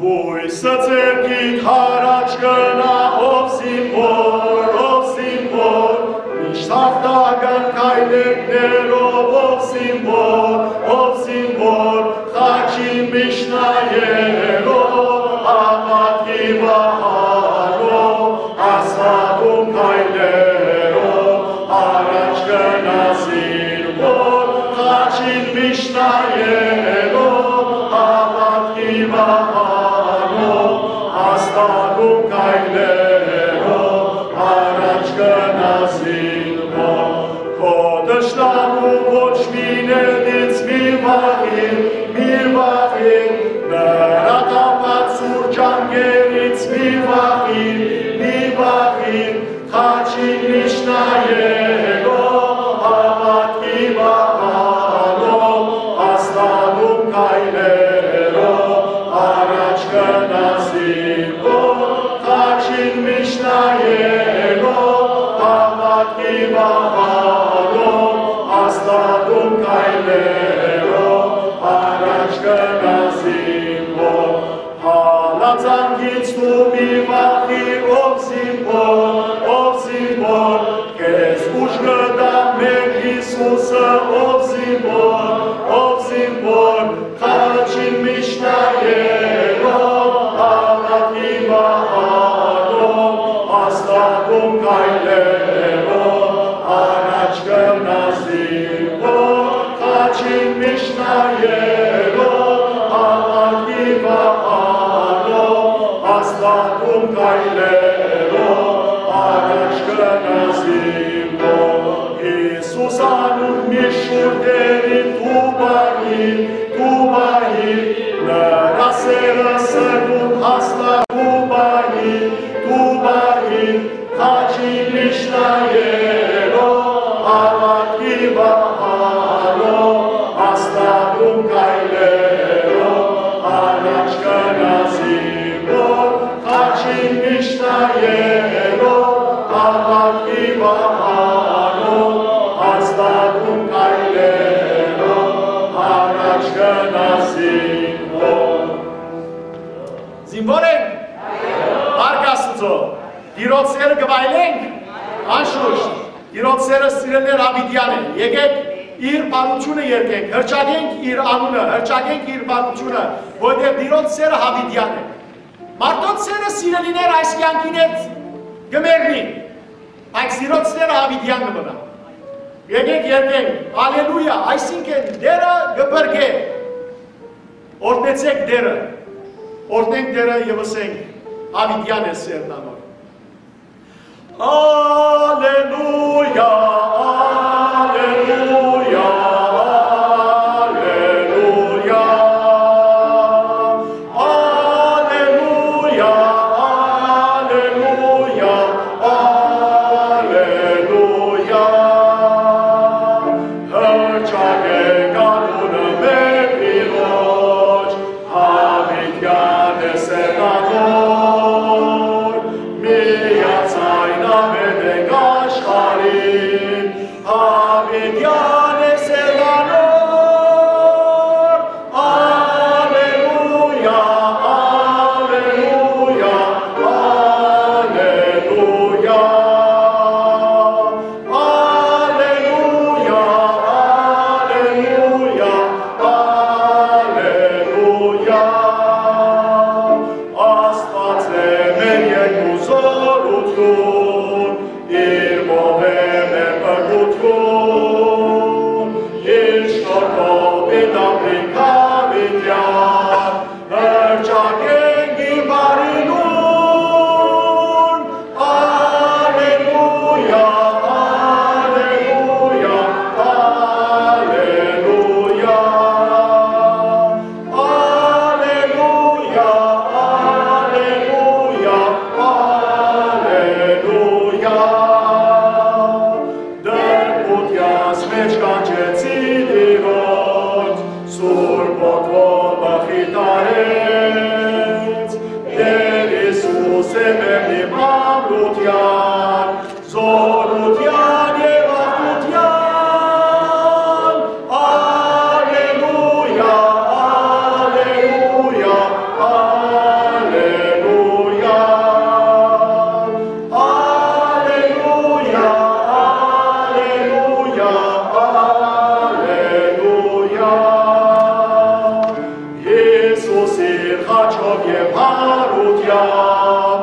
Լոյսը ձեռքիդ յառաջ կնայ, ով զինուոր, ով զինուոր, միշտ հաղթական քայլերով, ով զինուոր, ով զինուոր, խաչին միշտ նայելով, հաւատքի վահանով, հաստատուն քայլերով, յառաջ կնայ զինուոր, խաչին միշտ նայելով, հաւատքի վահանով, հաստատուն քայլերով, յառաջ կնայ զինուոր։ Քո թշնամուն ոչ մին էդ ինձ մի վախի, մի վախի, նրա թափած սուր ճանկերից մի վախի, մի վախի, խաչին միշտ նայելով, հաւատքի վահանով, հաստատուն քայլերով, յառաջ կնայ զինուոր, խաչին միշտ նայելով, հաւատքի վահանով, հաստատուն քայլերով, յառաջ կնայ զինուոր։ Հալածանքից դու մի վախի, ով զինուոր, ով զինուոր, քեզ Կտամ մեր Յիսուսը, ով զինուոր, ով զինուոր, խաչին միշտ նայելով, աղաքի վահանով, հաստատուն քայլերով, առաջ գնաս զինուոր, խաչին միշտ նայելով, աղաքի վահանով, հաստատուն քայլերով, առաջ գնաս զինուոր։ Յիսուս անուն միշտ շուրթերին դու պահի, դու պահի, նրա սերը սրտում հաստատ դու պահի, դու պահի, խաչի միշտ նայելով, աղաքի վահանով, հաստատուն քայլերով, առաջ գնաս զինուոր, խաչին միշտ նայելով, աղաքի վահանով, հաստատուն քայլերով, առաջ գնաս զինուոր։ Զինուոր ենք, Արք Աստուծոյ, Տիրոջ սերը կը վայելենք, անշուշտ, Տիրոջ սերը սիրելիներ աւիտեան է։ Եկեք իր բարութիւնը երգենք, հրճակենք իր անունը, հրճակենք իր բարութիւնը, որտեղ Տիրոջ սերը աւիտեան է։ Մարդոց սերը, սիրելիներ, այս կեանքին հետ կը մեռնի, բայց Տիրոջ սերը աւիտեան կը մնայ։ Եկեք երգենք, Ալելույա, այսինքն Տէրը կը փրկէ։ Օրհնեցէք Տէրը, օրհնենք Տէրը եւ ըսենք, աւիտեան է սերն անոր։ Ալելույա, ալելույա, ալելույա, ալելույա, ալելույա, ալելույա։ Հրճակէք անունը մեր Տիրոջ, աւիտեան է սերն անոր, միաձայն աւետենք աշխարհին, աւիտեան է սերն անոր։ Ալելույա, ալելույա, ալելույա, ալելույա, ալելույա, ալելույա։ Աստուած է մեր երկու զօրութիւն, իր մովէն է փրկութիւն, իր շնորհքով պիտի ապրինք աւիտեան, հրճակենք իր բարի լուրը։ Ալելույա, ալելույա, ալելույա, ալելույա, ալելույա, ալելույա։ Դրկութեանց մէջ կանչեցի Տիրոջ, Սուրբ Հոգով մխիթարեց։ Տէր Յիսուս է մեր մամլութեան, զօրութեան եւ աղթութեան։ Ալելույա, ալելույա, ալելույա։ Ալելույա, ալելույա, ալելույա։ Յիսուս իր խաչով եւ հարութեամբ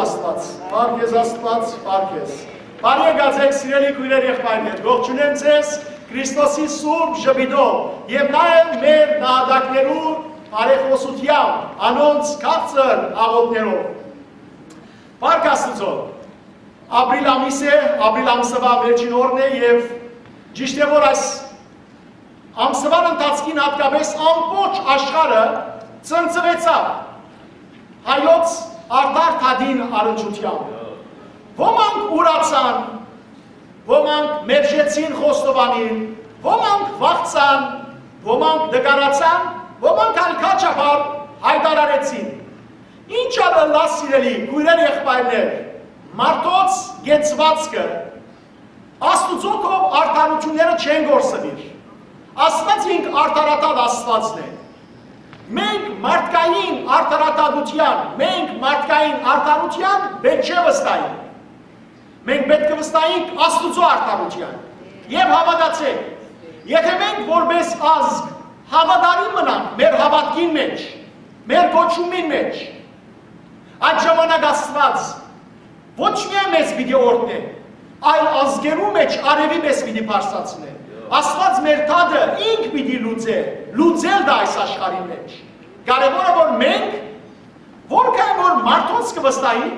Աստուած, փառք քեզ Աստուած, փառք քեզ։ Բարի եկած էք, սիրելի քոյրեր, եղբայրներ, ողջունեմ ձեզ Քրիստոսի սուրբ ժպիտով եւ նաեւ մեր նահատակներու բարեխօսութեամբ, անոնց քաղցր աղօթքներով։ Փառք Աստուծոյ։ Ապրիլ ամիս է, ապրիլ ամսուայ վերջին օրն է եւ ճիշդ է, որ այս ամսուան ընթացքին հատկապէս ամբողջ աշխարհը ցնցուեցաւ հայոց արդար դատին առնչութեամբ։ Ոմանք ուրացան, ոմանք մերժեցին խոստովանին, ոմանք վախցան, ոմանք նկարացան, ոմանք ալ քաչաբար յայտարարեցին։ Ինչ ալ ըլլայ, սիրելի քոյրեր, եղբայրներ, մարդոց կեցուածքը Աստուծոյ քով արդարութիւնները չեն կորսուիր։ Աստուած ինք արդարադատ Աստուածն է։ Մենք մարդկային արդարադատութեան, մենք մարդկային արդարութեան պէտք չէ վստահենք։ Մենք պէտք է վստահենք Աստուծոյ արդարութեան։ Եւ հաւատացէք, եթէ մենք որպէս ազգ հաւատարիմ մնանք մեր հաւատքին մէջ, մեր կոչումին մէջ, այդ ժամանակ Աստուած ոչ միայն մեզ պիտի օրհնէ, այլ ազգերու մէջ արեւի մեզ պիտի բարձրացնէ։ Աստուած մեր դատը ինք պիտի լուծէ, լուծել տայ այս աշխարհին մէջ։ Կարեւորը որ մենք, որքան որ մարդոց կը վստահենք,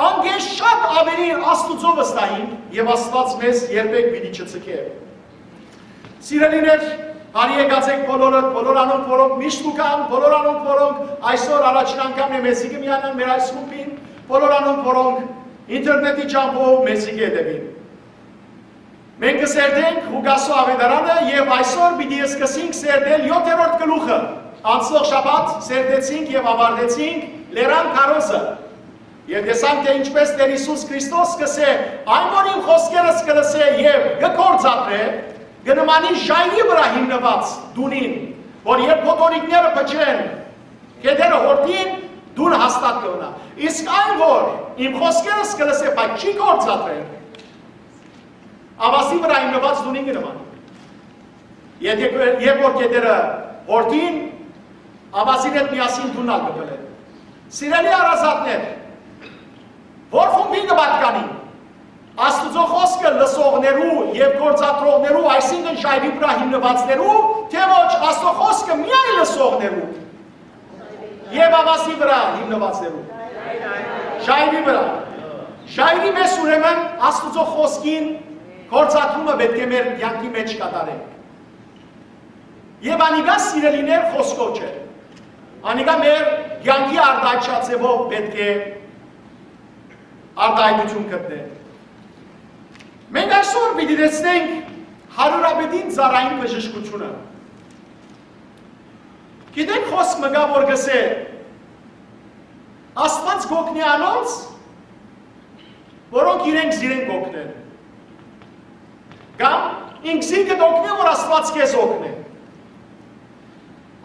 անկէ շատ աւելի Աստուծոյ վստահենք եւ Աստուած մեզ երբեք պիտի չցկէ։ Սիրելիներ, բարի եկած էք բոլորը, բոլոր անոնք, որոնք միշտ կու գան, բոլոր անոնք, որոնք այսօր առաջին անգամ է մեզի կը միանան մեր այս խումբին, բոլոր անոնք, որոնք ինտերնետի ճամբով մեզի կը հետեւին։ Մենք կը սերտենք Ղուկասու աւետարանը եւ այսօր պիտի սկսենք սերտել յոթերորդ գլուխը։ Անցնող շաբաթ սերտեցինք եւ աւարտեցինք Լերան քարոզը։ Եւ տեսանք, թէ ինչպէս Տէր Յիսուս Քրիստոս կ'ըսէ. «Այն որ իմ խօսքերս կը լսէ եւ կը գործադրէ, կը նմանի ժայռի վրայ հիմնուած տունին, որ երբ փոթորիկները փչեն, կետերը յորթին, տունը հաստատ կը մնայ։ Իսկ այն որ իմ խօսքերս կը լսէ, բայց չի գործադրեր, աւազի վրայ հիմնուած տունին կը նմանի։ Եթէ կը-, երբ որ կետերը յորթին, աւազին հետ միասին տունն ալ կը փլեն»։ Սիրելի հարազատներ, ո՞ր խումբին կը պատկանին, Աստուծոյ խօսքը լսողներու եւ գործադրողներու, այսինքն՝ ժայռի վրայ հիմնուածներու, թէ՞ ոչ, Աստուծոյ խօսքը միայն լսողներու եւ աւազի վրայ հիմնուածներու։ Ժայռի վրայ։ Ժայռի մեզ, ուրեմն, Աստուծոյ խօսքին գործադրումը պէտք է մեր կեանքի մէջ կատարենք։ Եւ անիկա, սիրելիներ, խօսքով չէ։ Անիկա մեր կեանքի արտայայտչաձեւով պէտք է արտայայտութիւն գտնենք։ Մենք այսօր պիտի տեսնենք հարիւրապետին ծառային բժշկութիւնը։ Գիտեք, խօսք մը կայ, որ կ'ըսէ. «Աստուած կ'օգնէ անոնց, որոնք իրենք զիրենք կ'օգնեն»։ Կամ ինքզինքդ օգնէ, որ Աստուած քեզ օգնէ։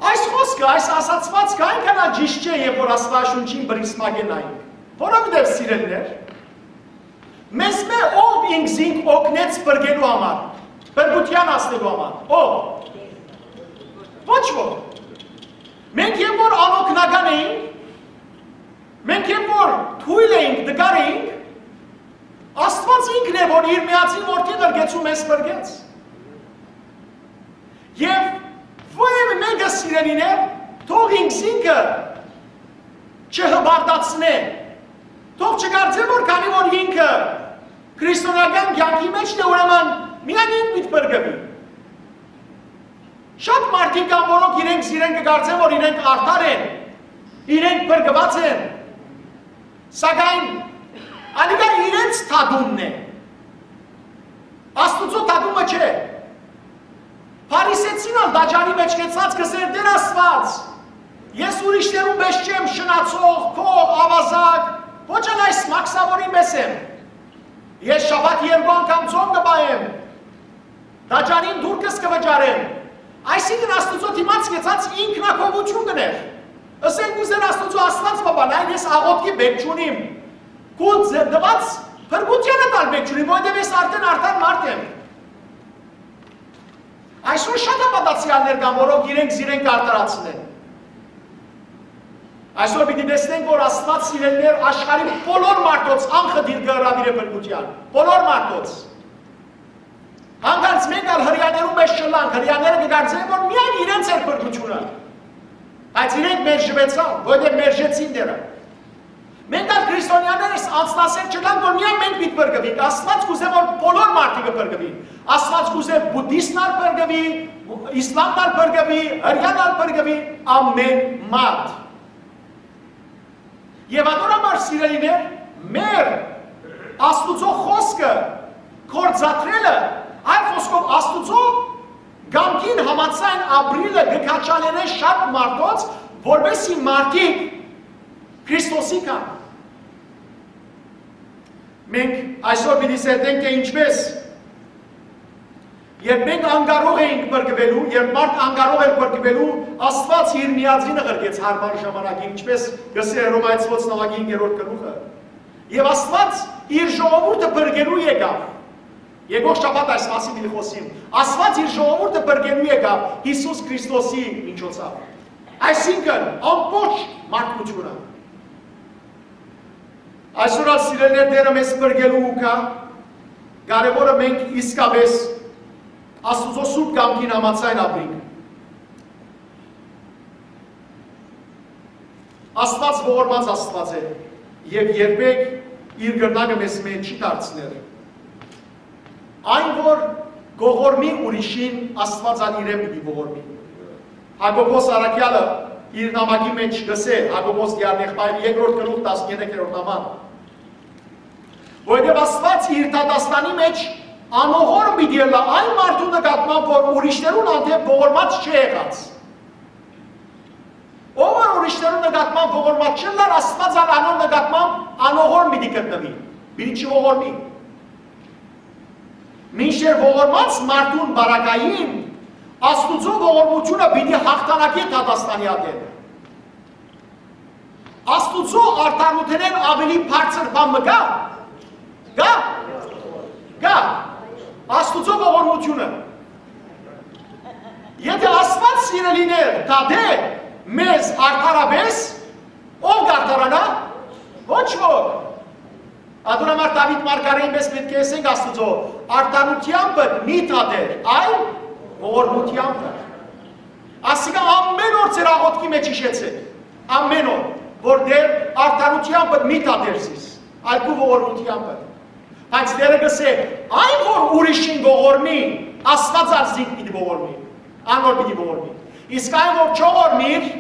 Այս խօսքը, այս ասացուածքը այնքան ալ ճիշդ չէ, երբ որ Աստուածաշունչին բռնցքին նայենք։ Որովհետեւ, սիրելիներ, մեզմէ ո՞վ ինքզինք օգնեց փրկելու համար, փրկութեան հասնելու համար։ Ո՞վ։ Ոչ ոք։ Մենք երբ որ անօգնական էինք, մենք երբ որ թոյլ էինք, տկար էինք, Աստուած ինքն է, որ իր միածին որդի ղրկեցու մեզ փրկեց։ Եւ որեւէ մէկը, սիրելիներ, թող ինքզինքը չհպարտացնէ, թող չկարծէ, որ քանի որ ինքը քրիստոնեական կեանքի մէջ է, ուրեմն միայն ինք պիտի փրկուի։ Շատ մարդիկ կան, որոնք իրենք զիրենք կը կարծեն, որ իրենք արդար են, իրենք փրկուած են, սակայն անիկա իրենց դատումն է, Աստուծոյ դատումը չէ։ Փարիսեցին ալ տաճարի մէջ կեցած կ'ըսէր. «Տէր Աստուած, ես ուրիշներուն պէս չեմ շնացող, գող, աւազակ, ոչ ալ այս մաքսաւորին պէս եմ։ Ես շաբաթ երկու անգամ ծոմ կը պահեմ, տաճարին տուրքս կը վճարեմ»։ Այսինքն՝ Աստուծոյ դիմաց կեցած ինքնակովութիւն կ'ընէր։ Ըսել կ'ուզէր Աստուծոյ. «Աստուած պապա, նայ, ես աղօթքի պէտք չունիմ, քու ձ-, տուած փրկութեանը ալ պէտք չունիմ, որովհետեւ ես արդէն արդար մարդ եմ»։ Այսօր շատ հաւատացեալներ կան, որոնք իրենք զիրենք արդարացնեն։ Այսօր պիտի տեսնենք, որ Աստուած, սիրելիներ, աշխարհի բոլոր մարդոց անխտիր կը հրաւիրէ փրկութեան։ Բոլոր մարդոց։ Հանկարծ մենք ալ հրեաներուն մէջ չըլլանք, հրեաները կը կարծեն, որ միայն իրենց էր փրկութիւնը։ Բայց իրենք մերժուեցան, որովհետեւ մերժեցին Տէրը։ Մենք ալ քրիստոնեաներս անձնասեր չըլանք, որ միայն մենք պիտի փրկուինք։ Աստուած կ'ուզէ, որ բոլոր մարդիկը փրկուին։ Աստուած կ'ուզէ, բուդդիստն ալ փրկուի, իսլամն ալ փրկուի, հրեան ալ փրկուի, ամէն մարդ։ Եւ ատոր համար, սիրելիներ, մեր Աստուծոյ խօսքը գործադրելը, այլ խօսքով, Աստուծոյ կամքին համաձայն ապրիլը կը քաջալերէ շատ մարդոց, որպեսզի մարդիկ Քրիստոսի գան։ Մենք այսօր պիտի սերտենք, թէ ինչպէս, երբ մենք անկարող էինք փրկուելու, երբ մարդ անկարող էր փրկուելու, Աստուած իր միածինը ղրկեց յարմար ժամանակին, ինչպէս կ'ըսէ Հռոմայեցիներուն հինգերորդ գլուխը։ Եւ Աստուած իր ժողովուրդը փրկելու եկաւ։ Եկող շաբաթ այս մասին պիտի խօսիմ։ Աստուած իր ժողովուրդը փրկելու եկաւ Յիսուս Քրիստոսի միջոցով։ Այսինքն, ամբողջ մարդկութիւնը։ Այսօր ալ, սիրելիներ, Տէրը մեզ փրկելու կայ, կարեւորը մենք իսկապէս Աստուծոյ սուրբ կամքին համաձայն ապրենք։ Աստուած ողորմած Աստուած է եւ երբեք իր կրնակը մեզմէ չի դարձներ։ Այն որ կ'ողորմի ուրիշին, Աստուած ալ իրեն պիտի ողորմի։ Յակոբոս առաքեալը իր նամակի մէջ կ'ըսէ, Յակոբոս Տիարնեղբայրը, երկրորդ գլուխ, տասներկերորդ համար, որովհետեւ Աստուած իր դատաստանի մէջ անողորմ պիտի ըլլայ այն մարդուն նկատմամբ, որ ուրիշներուն հանդէպ ողորմած չէ եղած։ Ով որ ուրիշներուն նկատմամբ ողորմած չըլլար, Աստուած ալ անոր նկատմամբ անողորմ պիտի գտնուի, պիտի չողորմի։ Մինչդեռ ողորմած մարդուն պարագային Աստուծոյ ողորմութիւնը պիտի յաղթանակի դատաստանի ատեն։ Աստուծոյ արդարութենէն աւելի բարձր բան մը կա՞։ Կա։ Կա։ Աստուծոյ ողորմութիւնը։ Եթէ Աստուած, սիրելիներ, դատէ մեզ արդարապէս, ո՞վ կ'արդարանայ։ Ոչ ոք։ Ատոր համար Դաւիթ մարգարէին պէս պէտք է ըսենք Աստուծոյ. «Արդարութեամբդ մի դատեր, այլ ողորմութեամբը»։ Ասիկա ամէն օր ձեր աղօթքի մէջ յիշեցէք, ամէն օր, որ Տէր, արդարութեամբդ մի դատեր զիս, այլ քու ողորմութեամբը։ Բայց Տէրը կ'ըսէ. «Այն որ ուրիշին կ'ողորմի, Աստուած ալ զինք պիտի ողորմի, անոր պիտի ողորմի։ Իսկ այն որ չողորմիր,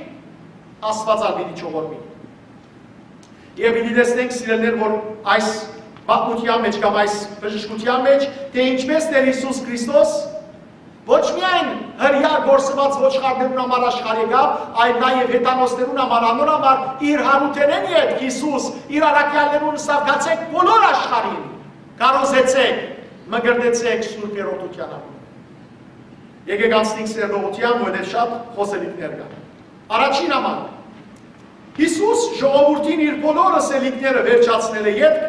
Աստուած ալ պիտի չողորմի»։ Եւ պիտի տեսնենք, սիրելիներ, որ այս պատմութեան մէջ կամ այս բժշկութեան մէջ, թէ ինչպէս Տէր Յիսուս Քրիստոս ոչ միայն հրեայ կորսուած ոչխարներուն համար աշխարհ եկաւ, այլ նաեւ հեթանոսներուն համար, անոր համար իր յարութենէն ետք Յիսուս իր առաքեալներուն ըսաւ. «Գացէք բոլոր աշխարհին, քարոզեցէք, մկրտեցէք Սուրբ Հերորդութեան անունը»։ Եկեք անցնենք սերտողութեան, որովհետեւ շատ խօսելիքներ կան։ Առաջին համար, Յիսուս ժողովուրդին իր բոլոր ըսելիքները վերջացնելէ ետք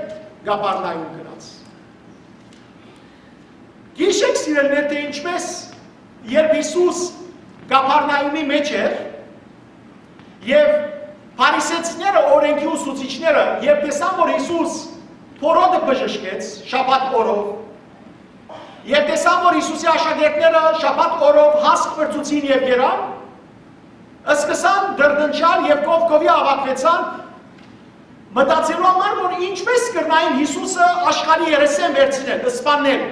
Կափառնայում գնաց։ Գիշեք, սիրելիներ, թէ ինչպէս, երբ Յիսուս Կափառնայումի մէջ էր, եւ փարիսեցիները, օրենքի ուսուցիչները, երբ տեսան, որ Յիսուս փորոտը բժշկեց շաբաթ օրով, երբ տեսան, որ Յիսուսի աշակերտները շաբաթ օրով հասկ պրծուցին եւ գերան, սկսան դրդնչալ եւ կով-կովի աւագուեցան, մտածելու համար, որ ինչպէս կրնային Յիսուսը աշխարհի երեսէն վերցնել, սպաննել,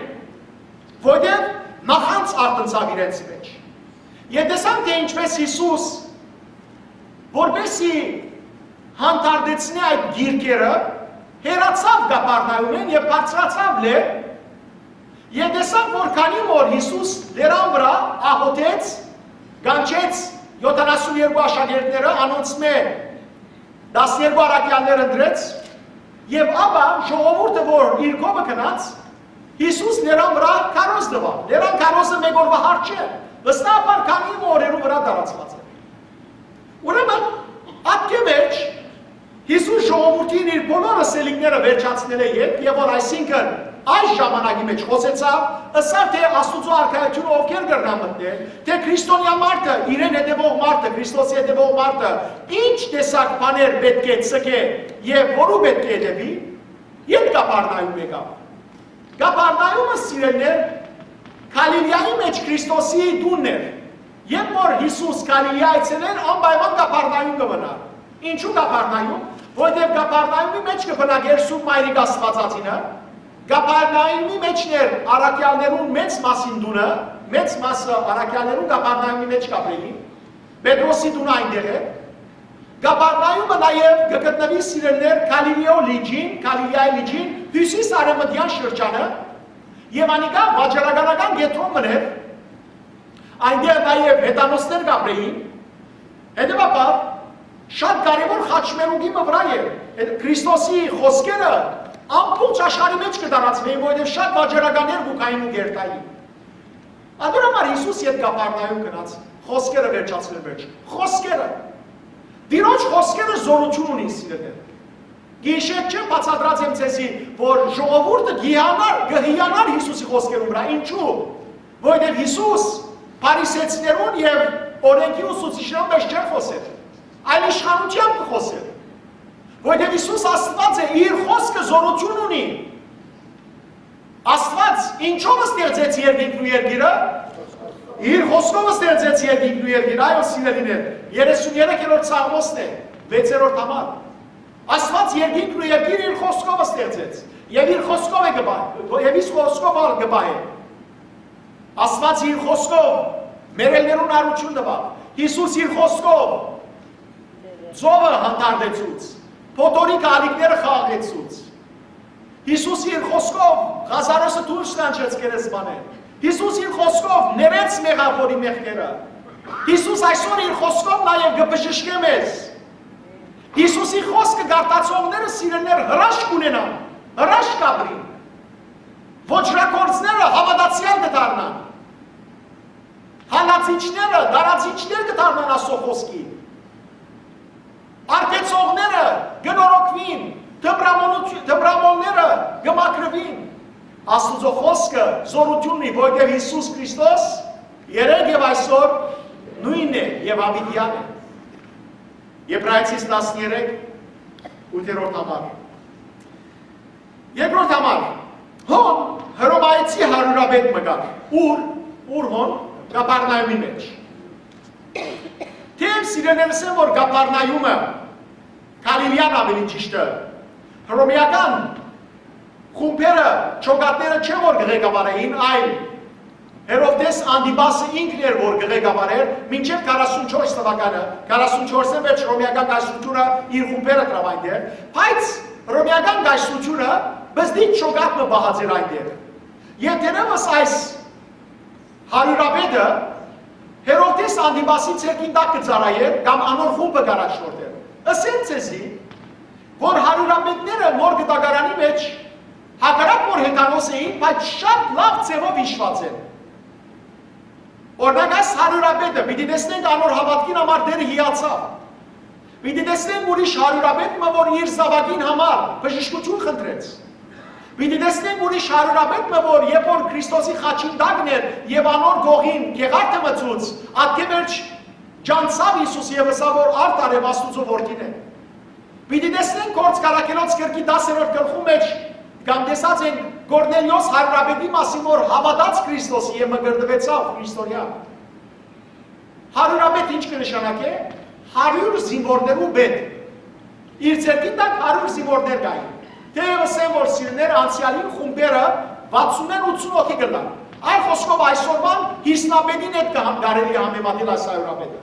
որտեղ նախանձ արտնցաւ իրենց մեջ։ Եւ տեսան, թէ ինչպէս Յիսուս, որպեսզի հանդարտեցնէ այդ գիրքերը, հեռացաւ Կափառնայումէն եւ բարձրացաւ լեռ, եւ տեսան, որ քանի որ Յիսուս լեռան վրայ աղօթեց, կանչեց յոթանասուն երկու աշակերտները, անոնցմէ տասներկու առաքեալներ ընտրեց, եւ ապա ժողովուրդը, որ իր կողմը գնաց, Յիսուս լեռան վրայ քարոզ տուաւ։ Լեռան քարոզը մէկ օրուայ հարց չէ, վստահաբար քանի մը օրերու վրայ տարածուած է։ Ուրեմն, ատկէ մէջ, Յիսուս ժողովուրդին իր բոլոր ըսելիքները վերջացնելէ ետք, եւ որ, այսինքն, այս ժամանակի մէջ խօսեցաւ, Ըսաւ թէ Աստուծոյ արքայութիւնը ովքեր կրնան մտնել, թէ քրիստոնեայ մարդը, իրեն հետեւող մարդը, Քրիստոսի հետեւող մարդը, ինչ տեսակ բաներ պէտք է ձգէ եւ որու պէտք է հետեւի, յետ Կապառնայում եկաւ։ Կապառնայումը, սիրելիներ, Գալիլիայի մէջ Քրիստոսի տունն էր։ Երբ որ Յիսուս Գալիլիա այցելեր, անպայման Կապառնայում կը մնար։ Ինչու Կապառնայում։ Որտեւ Կապառնայումի մէջ կը բնակէր Սուրբ Մայրիկ Աստուածածինը, Կապառնայումի մէջն էր առաքեալներուն մեծ մասին տունը, մեծ մասը առաքեալներուն Կապառնայումի մէջ կ'ապրէին, Պետրոսի տունը այնտեղ է։ Կապառնայումը նաեւ կը գտնուի, սիրելիներ, Գալիլեոյ լիճին, Գալիլիայի լիճին, հիւսիս արեւմտեան շրջանը, եւ անիկա վաճառականական կեդրոն մըն էր, այնտեղ նաեւ հեթանոսներ կ'ապրէին։ Հետեւաբար, շատ կարեւոր խաչմերուկի մը վրայ է, Քրիստոսի խօսքերը ամբողջ աշխարհի մէջ կը տարածուին, որովհետեւ շատ վաճառականներ կու գային ու կ'երթային։ Ատոր համար Յիսուս յետ Կապառնայում գնաց, խօսքերը վերջացնել վերջ։ Խօսքերը։ Տիրոջ խօսքերը զօրութիւն ունին, սիրելիներ։ Գիշեր չէ, բացատրած եմ ձեզի, որ ժողովուրդը կ'հիանար, կը հիանար Յիսուսի խօսքերուն վրայ։ Ինչու՞։ Որովհետեւ Յիսուս փարիսեցիներուն եւ օրէնքի ուսուցիչներուն մէջ չէր խօսեր, այլ իշխանութեամբ կը խօսէր։ Որովհետեւ Յիսուս Աստուած է, իր խօսքը զօրութիւն ունի։ Աստուած ինչո՞վ ստեղծեց երկինքն ու երկիրը։ Իր խօսքով ստեղծեց երկինքն ու երկիրը, այո, սիրելիներ, երեսուն երեքերորդ Սաղմոսն է, վեցերորդ համար։ Աստուած երկինքն ու երկիրը իր խօսքով ստեղծեց, եւ իր խօսքով է կը պահ-, եւ իր խօսքով ալ կը պահէ։ Աստուած իր խօսքով մեռելներուն արութիւն տուաւ։ Յիսուս իր խօսքով ծովը հանդարտեցուց, փոթորիկը ալիքները խաղաղեցուց։ Յիսուս իր խօսքով Ղազարոսը դուրս կանչեց գերեզմանէն։ Յիսուս իր խօսքով ներեց մեղաւորի մեղքերը։ Յիսուս այսօր իր խօսքով նաեւ կը բժշկէ մեզ։ Յիսուսի խօսքը կարդացողները, սիրելիներ, հրաշք ունենան, հրաշք կ'ապրին։ Ոճրագործները հաւատացեալ կը դառնան։ Հալածիչները, տարածիչներ կը դառնան Աստուծոյ խօսքի։ Արտեցողները կը նորոգուին, թմրամոլութ-, թմրամոլները կը մաքրուին։ Աստուծոյ խօսքը զօրութիւն ունի, որովհետեւ Յիսուս Քրիստոս երեկ եւ այսօր նոյնն է եւ յաւիտեան է։ Եբրայեցիս տասներեք, ութերորդ համար։ Երկրորդ համար, հոն Հռոմայեցի հարիւրապետ մը կար։ Ո՞ւր, ո՞ւր հոն, Կապառնայումի մէջ։ Թէեւ սիրելիներս են, որ Կապառնայումը, Գալիլիան աւելի ճիշդը, հռոմեական խումբերը, ջոկատները չէ որ կը ղեկավարէին, այլ Հերովդէս Անտիպասը ինքն էր, որ կը ղեկավարէր, մինչեւ քառասունչորս թուականը, քառասունչորսին մէջ հռոմեական կայսրութիւնը իր խումբերը դրաւ այնտեղ, բայց հռոմեական կայսրութիւնը բզդից ջոկատ մը պահած էր այնտեղ։ Եւ թերեւս այս հարիւրապետը Հերովդէս Անտիպասի ձեռքին տակ կը ծառայէր կամ անոր խումբը կ'առաջնորդէր։ Ըսեմ ձեզի, որ հարիւրապետները նոր կտակարանի մէջ, հակառակ որ հեթանոս էին, բայց շատ լաւ ձեւով յիշուած են։ Օրինակ, այս հարիւրապետը, պիտի տեսնենք, անոր հաւատքին համար Տէրը հիացաւ։ Պիտի տեսնենք ուրիշ հարիւրապետ մը, որ իր զաւակին համար բժշկութիւն խնդրեց։ Պիտի տեսնենք ուրիշ հարիւրապետ մը, որ երբ որ Քրիստոսի խաչին տակն էր եւ անոր կողին գեղարդը մցուց, ատկէ վերջ ջանցաւ Յիսուս եւ ըսաւ, որ արդ արեւ Աստուծոյ որդին է։ Պիտի տեսնենք Գործք առաքելոց գրքի տասերորդ գլխու մէջ, կամ տեսած ենք Կորնելիոս հարիւրապետի մասին, որ հաւատաց Քրիստոսի եւ մկրտուեցաւ Քրիստոնեայ։ Հարիւրապետ ինչ կը նշանակէ։ Հարիւր զինուորներու պետ։ Իր ձեռքին տակ հարիւր զինուորներ կային։ Թէեւ ըսեմ, որ սիրելիներ, անցեալին խումբերը վաթսունէն ութսուն հոգի կ'ըլլան։ Այլ խօսքով, այսօրուան հիսնապետին հետ կը համ-, կարելի է համեմատել այս հարիւրապետը։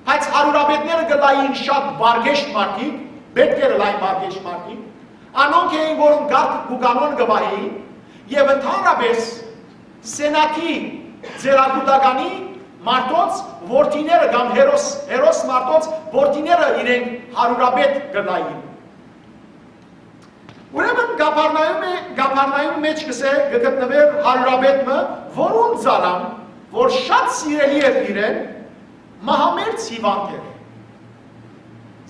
Բայց հարիւրապետները կ'ըլլային շատ բարգեշտ մարդիկ, պէտք էր ըլլային բարգեշտ մարդիկ, անոնք էին, որոնք կարգ ու կանոն կը պահէին, եւ ընդհանրապէս Սենատի ծերակուտականի մարդոց որդիները կամ հերոս, հերոս մարդոց որդիները իրենք հարիւրապետ կ'ըլլային։ Ուրեմն Կապառնայում է, Կապառնայում մէջ կ'ըսէ, կը գտնուէր հարիւրապետ մը, որուն ծառան, որ շատ սիրելի էր իրեն, մահամերձ հիւանդ էր։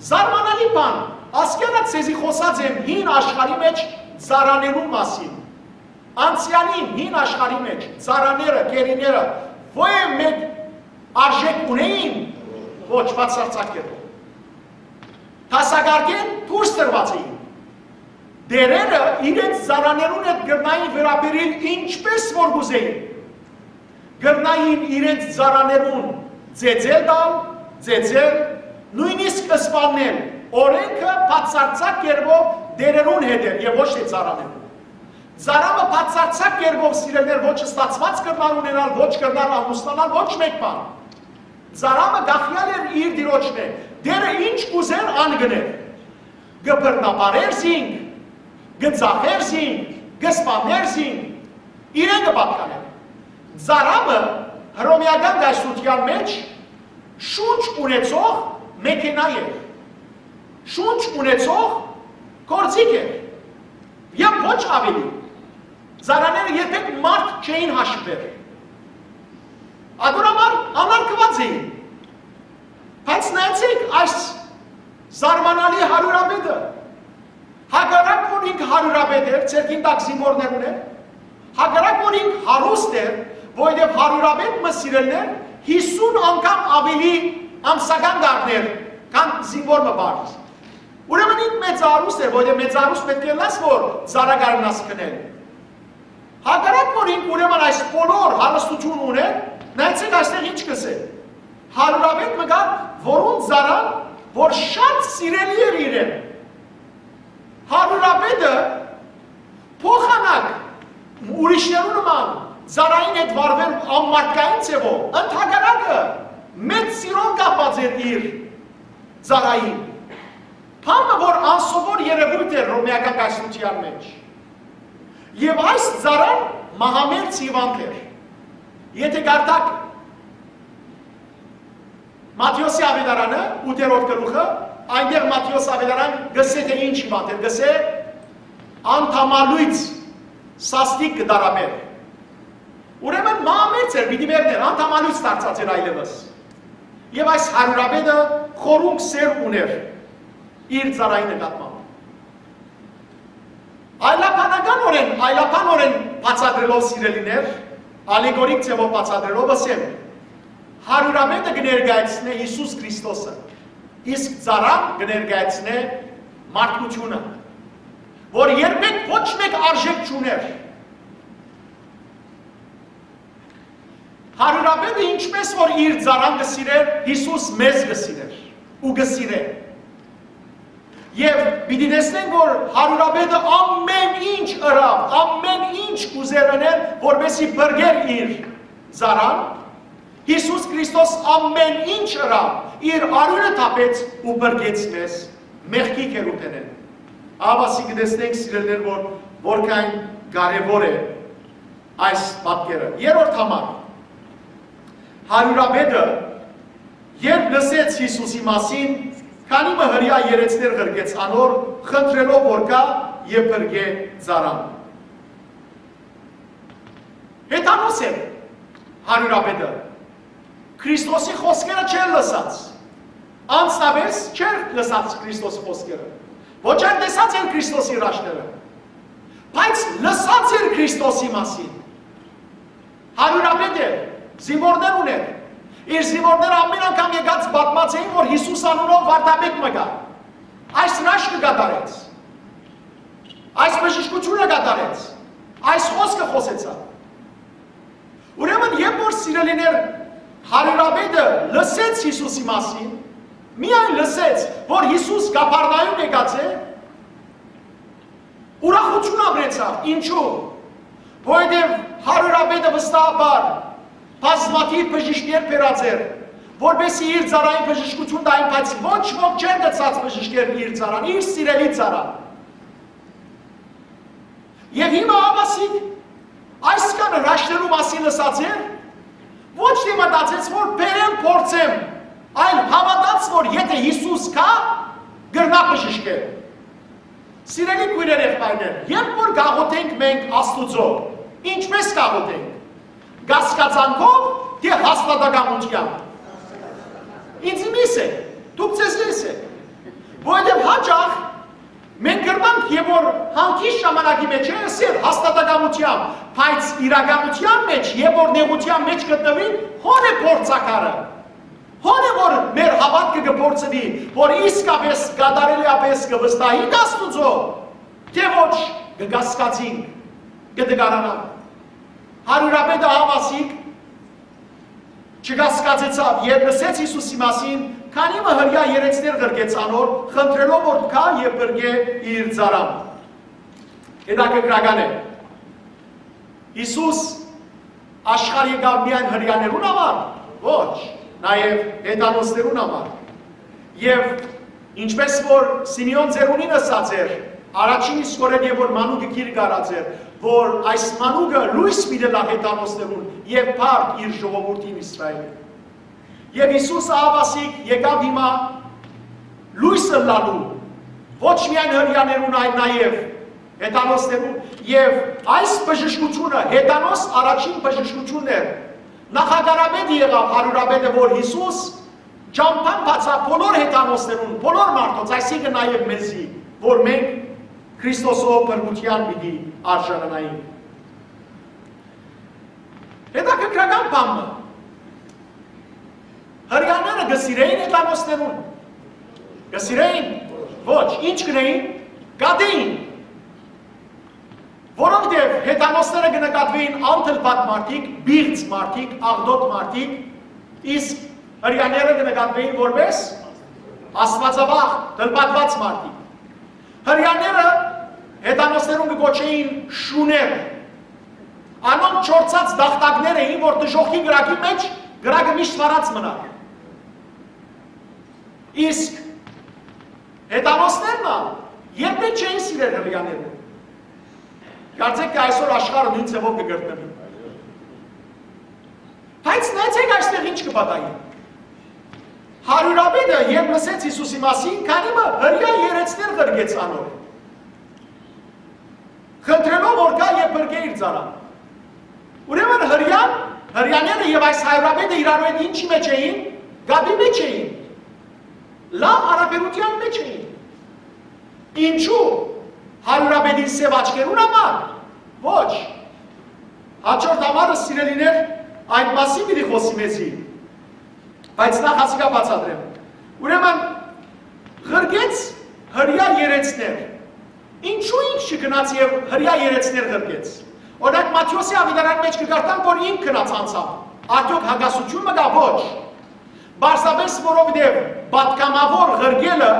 Զարմանալի բան, ասկեանա ձեզի խօսած եմ հին աշխարհի մէջ ծառաներուն մասին։ Անցեալին հին աշխարհի մէջ ծառաները, գերիները ոեւ մէկ արժէք ունէին, ոչ, բացարձակ կերպով։ Դասակարգէն դուրս տրուած էին։ Տէրերը իրենց ծառաներուն հետ կրնային վերաբերիլ ինչպէս որ կ'ուզէին։ Կրնային իրենց ծառաներուն ծեծել տալ, ծեծել, նոյնիսկ սպաննել։ Օրէնքը բացարձակ կերպով տէրերուն հետ էր եւ ոչ թէ ծառաներուն։ Ծառամը բացարձակ կերպով, սիրելիներ, ոչ ստացուած կրնար ունենալ, ոչ կրնար ամուսնանալ, ոչ մէկ բան։ Ծառամը կախեալ էր իր տիրոջմէ։ Տէրը ինչ կ'ուզէր, ան կ'ընէր։ Կը բռնապարէր զինք, կը ծախէր զինք, կը սպաննէր զինք, իրեն կը պատկանէր։ Ծառամը հռոմեական կայսրութեան մէջ շունչ ունեցող մեքենայ էր, շունչ ունեցող գործիք էր եւ ոչ աւելի։ Ծառաները երբեք մարդ չէին հաշուեր։ Ատոր համար անարգուած էին։ Բայց նայեցէք այս զարմանալի հարիւրապետը։ Հակառակ որ ինք հարիւրապետ էր, ձեռքին տակ զինուորներ ունէր, հակառակ որ ինք հարուստ էր, որովհետեւ հարիւրապետ մը, սիրելիներ, յիսուն անգամ աւելի ամսական կ'առնէր, քան զինուոր մը պարզ։ Ուրեմն ինք մեծարուստ էր, որովհետեւ մեծարուստ պէտք է ըլլաս, որ ծառայ կարենաս գնել։ Հակառակ որ ինք ուրեմն այս բոլոր հարստութիւնը ունէր, նայեցէք այստեղ ինչ կ'ըսէ։ Հարիւրապետ մը կար, որուն ծառան, որ շատ սիրելի էր իրեն։ Հարիւրապետը փոխանակ ուրիշներու նման ծառային հետ վարուեր անմարդկային ձեւով, ընդհակառակը, մեծ սիրով կապած էր իր ծառային։ Բան մը, որ անսովոր երեւոյթ էր հռոմեական կայսրութեան մէջ։ Եւ այս ծառան մահամերձ հիւանդ էր։ Եթե կարդաք Մատթէոսի աւետարանը, ութերորդ գլուխը, այնտեղ Մատթէոս աւետարան կ'ըսէ, թէ ինչ հիւանդ էր, կ'ըսէ, անդամալոյծ սաստիկ կը տարապէր։ Ուրեմն մահամերձ էր, պիտի մեռներ, անդամալոյծ դարձած էր այլեւս։ Եւ այս հարիւրապետը խորունկ սէր ունէր իր ծառայի նկատմամբ։ Այլաբանականօրէն, այլաբանօրէն բացատրելով, սիրելիներ, ալեգորիկ ձևով բացատրելով, ըսեմ, հարիւրապետը կը ներկայացնէ Յիսուս Քրիստոսը, իսկ ծառան կը ներկայացնէ մարդկութիւնը, որ երբեք ոչ մէկ արժէք չունէր։ Հարիւրապետը ինչպէս որ իր ծառան կը սիրէր, Յիսուս մեզ կը սիրէր ու կը սիրէ։ Եւ պիտի տեսնենք, որ հարիւրապետը ամեն ինչ ըրաւ, ամեն ինչ կ'ուզեր ընել, որպեսզի փրկեր իր ծառան։ Յիսուս Քրիստոս ամեն ինչ ըրաւ, իր արիւնը թափեց ու փրկեց մեզ մեղքի գերութենէն։ Ահա ասի կը տեսնենք, սիրելիներ, որ որքան կարեւոր է այս պատկերը։ Երրորդ համար, հարիւրապետը, երբ լսեց Յիսուսի մասին, քանի մը հրեայ երեցներ ղրկեց անոր, խնդրելով որ գայ եւ փրկէ ծառան։ Հեթանոս էր հարիւրապետը։ Քրիստոսի խօսքերը չէր լսած։ Անձնապէս չէր լսած Քրիստոսի խօսքերը։ Ոչ այլ տեսած էր Քրիստոսի հրաշքները, բայց լսած էր Քրիստոսի մասին։ Հարիւրապետ էր, զինուորներ ունէր։ Իր զինուորները ամեն անգամ եկած պատմած էին, որ Յիսուս անունով վարդապետ մը կայ։ Այս հրաշքը կատարեց։ Այս բժշկութիւնը կատարեց։ Այս խօսքը խօսեցաւ։ Ուրեմն, երբ որ, սիրելիներ, հարիւրապետը լսեց Յիսուսի մասին, միայն լսեց, որ Յիսուս Կափառնայում եկած է, ուրախութիւն ապրեցաւ։ Ինչու՞։ Որովհետեւ հարիւրապետը վստահաբար բազմաթիւ բժիշկներ բերած էր, որպեսզի իր ծառային բժշկութիւն տային, բայց ոչ ոք չէր գցած բժիշկներ իր ծառան, իր սիրելի ծառան։ Եւ հիմա աբասիկ այսքան հրաշքներու մասին լսած էր, ոչ թէ մտածեց, որ բերեմ, փորձեմ, այլ հաւատաց, որ եթէ Յիսուս կայ, կրնայ բժշկել։ Սիրելի քոյրեր, եղբայրներ, երբ որ կաղոթենք մենք Աստուծոյ, ինչպէս կաղոթենք, կասկածանքով թէ հաստատակամութեամբ։ Ինձ միս է, դուք ձեզ միս է, որովհետեւ հաճախ Մենք կրնանք եւ որ հանգիստ ժամանակի մէջ է ըսել հաստատակամութեամբ, բայց իրականութեան մէջ եւ որ նեղութեան մէջ գտնուին, հոն է փորձակարը։ Հոն է որ մեր հաւատքը կը փորձուի, որ իսկապէս կատարելեապես կը վստահինք Աստուծոյ, թէ ոչ կը կասկածինք, կը տկարանանք։ Հարիւրապետը Յաւասիկ չկասկածեցաւ, երբ լսեց Յիսուսի մասին, քանի մը հրեայ երեցներ ղրկեց անոր, խնդրելով որ գայ եւ փրկէ իր ծառան։ Հետաքրքրական է։ Յիսուս աշխարհ եկաւ միայն հրեաներուն համար, ոչ, նաեւ հեթանոսներուն համար։ Եւ ինչպես որ Սիմէոն ծերունին ըսած էր, առաջին իսկ օրէն եւ որ մանուկը գիրկը առած էր, որ այս մանուկը լոյս պիտի ըլլայ հեթանոսներուն եւ փառք իր ժողովուրդին Իսրայէլին։ Եւ Յիսուս Յաւասիկ եկաւ հիմա լոյս ըլլալու ոչ միայն հրեաներուն, այլ նաեւ հեթանոսներուն։ Եւ այս բժշկութիւնը, հեթանոս առաջին բժշկութիւնն էր, նախակարապետ եղաւ հարիւրապետը, որ Յիսուս ճամբան բացաւ բոլոր հեթանոսներուն, բոլոր մարդոց, այսինքն նաեւ մեզի, որ մենք Քրիստոսով փրկութեան պիտի արժանանայինք։ Հետաքրքրական բան մը։ Հրեաները կը սիրէին հեթանոսներուն։ Կը սիրէին։ Ոչ, ինչ կրեին, կատեին։ Որովհետեւ հեթանոսները կը նկատուէին անթլպատ մարդիկ, բիղծ մարդիկ, աղտոտ մարդիկ, իսկ հրեաները կը նկատուէին որպես աստուածավախ, թլպատուած մարդիկ։ Հրեաները հեթանոսներուն կը կոչէին շուներ։ Անոնք չորցած տախտակներ էին, որ դժոխքի կրակի մէջ կրակը միշտ վառած մնար։ Իսկ հեթանոսներն ալ երբեք չէին սիրեր հրեաներուն։ Կարծեք թէ այսօր աշխարհը նոյն ձեւով կը կրկնուի։ Բայց նայեցէք այստեղ ինչ կը պատահի։ Հարիւրապետը, երբ լսեց Յիսուսի մասին, քանի մը հրեայ երեցներ ղրկեց անոր, խնդրելով որ գայ եւ փրկէ իր ծառան։ Ուրեմն հրեան, հրեաները եւ այս հարիւրապետը իրարու հետ ինչի մէջ էին, կապի մէջ էին, լաւ յարաբերութեան մէջ էին։ Ինչու՞, հարիւրապետին սեւ աչքերուն համար։ Ոչ։ Հաջորդ համարը, սիրելիներ, այդ մասին պիտի խօսի մեզի, բայց նախ ասիկա բացատրեմ։ Ուրեմն, ղրկեց հրեայ երեցներ։ Ինչու ինք չգնաց եւ հրեայ երեցներ ղրկեց։ Օրինակ, Մատթէոսի Աւետարանի մէջ կը կարդանք որ ինք գնաց անցաւ։ Արդեօք հակասութիւն մը կա՞։ Ոչ։ Պարզապէս որովհետեւ պատգամաւոր ղրկելը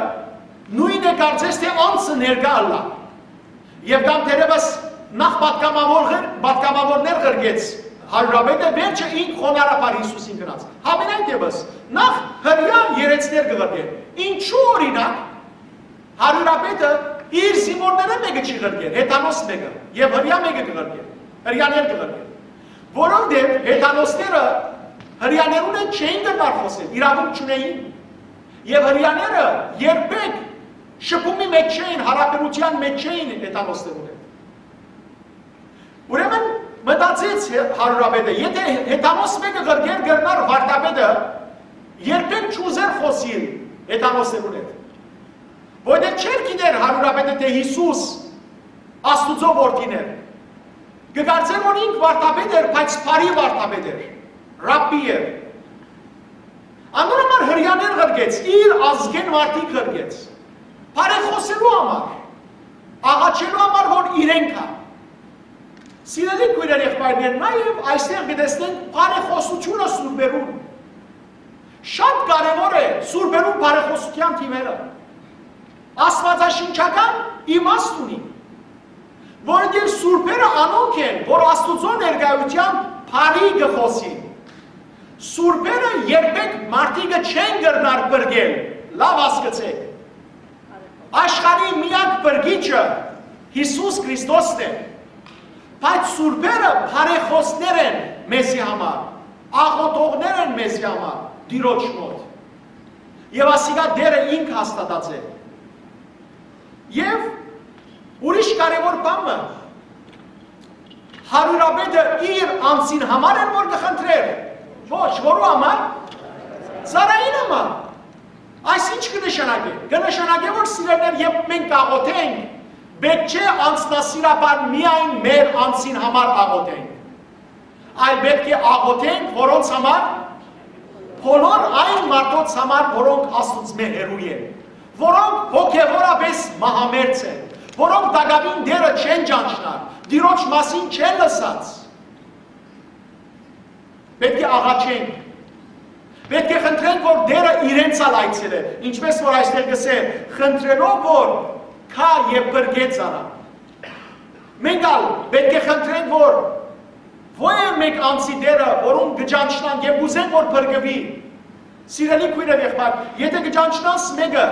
նոյն է, կարծես թէ անձը ներկայ ըլլայ։ Եւ կամ թերեւս նախ պատգամաւոր ղր-, պատգամաւորներ ղրկեց հարիւրապետը, վերջը ինք խոնարհաբար Յիսուսին գնաց։ Համենայն դեպս, նախ հրեայ երեցներ կը ղրկէ։ Ինչու, օրինակ, հարիւրապետը իր զինուորներէն մէկը չի ղրկեր, հեթանոս մէկը, եւ հրեայ մէկը կը ղրկեր, հրեաներ կը ղրկեր։ Որովհետեւ հեթանոսները հրեաներուն հետ չէին կրնար խօսել, իրաւունք չունէին։ Եւ հրեաները երբեք շփումի մէջ չէին, յարաբերութեան մէջ չէին հեթանոսներուն հետ։ Ուրեմն մտածեց հե-, հարիւրապետը, եթէ հեթանոս մէկը ղրկեր, կրնար վարդապետը երբեք չուզեր խօսիլ հեթանոսներուն հետ։ Որովհետեւ չէր գիտեր հարիւրապետը թէ Յիսուս Աստուծոյ որդին էր։ Կը կարծէր որ ինք վարդապետ էր, բայց բարի վարդապետ էր, ռաբբի էր։ Անոր համար հրեաներ ղրկեց, իր ազգէն մարդիկ ղրկեց։ Բարեխօսելու համար, աղաչելու համար որ իրեն գայ։ Սիրելի քոյրեր, եղբայրներ, նաեւ այստեղ կը տեսնենք բարեխօսութիւնը սուրբերուն։ Շատ կարեւոր է սուրբերուն բարեխօսութեան թիվերը։ Աստուածաշնչական իմաստ ունի, որովհետեւ սուրբերը անոնք են, որ Աստուծոյ ներկայութեան բարի կը խօսին։ Սուրբերը երբեք մարդիկը չեն կրնար փրկել, լաւ հասկցէք։ Աշխարհի միակ փրկիչը Յիսուս Քրիստոսն է, բայց սուրբերը բարեխօսներ են մեզի համար, աղօթողներ են մեզի համար Տիրոջ մօտ։ Եւ ասիկա Տէրը ինք հաստատած է։ Եւ ուրիշ կարեւոր բան մը, հարիւրապետը իր անձին համար էր որ կը խնդրեր, ոչ, որու համար, ծառային համար։ Այս ի՞նչ կը նշանակէ։ Կը նշանակէ, որ սիրելիներ, երբ մենք կ'աղօթենք, պէտք չէ անձնասիրաբար միայն մեր անձին համար աղօթենք, այլ պէտք է աղօթենք որոնց համար, բոլոր այն մարդոց համար, որոնք Աստուծմէ հեռու են, որոնք հոգեւորապէս մահամերձ են, որոնք տակաւին Տէրը չեն ճանչնար, Տիրոջ մասին չեն լսած։ Պէտք է աղաչենք։ Պէտք է խնդրենք, որ Տէրը իրենց ալ այցելէ, ինչպէս որ այստեղ կ'ըսէ, խնդրելով որ գայ եւ փրկէ զանա։ Մենք ալ պէտք է խնդրենք, որ ոյ մէկ անձի Տէրը, որուն կը ճանչնանք եւ կ'ուզենք որ փրկուի։ Սիրելի քոյր եւ եղբայր, եթէ կը ճանչնաս մէկը,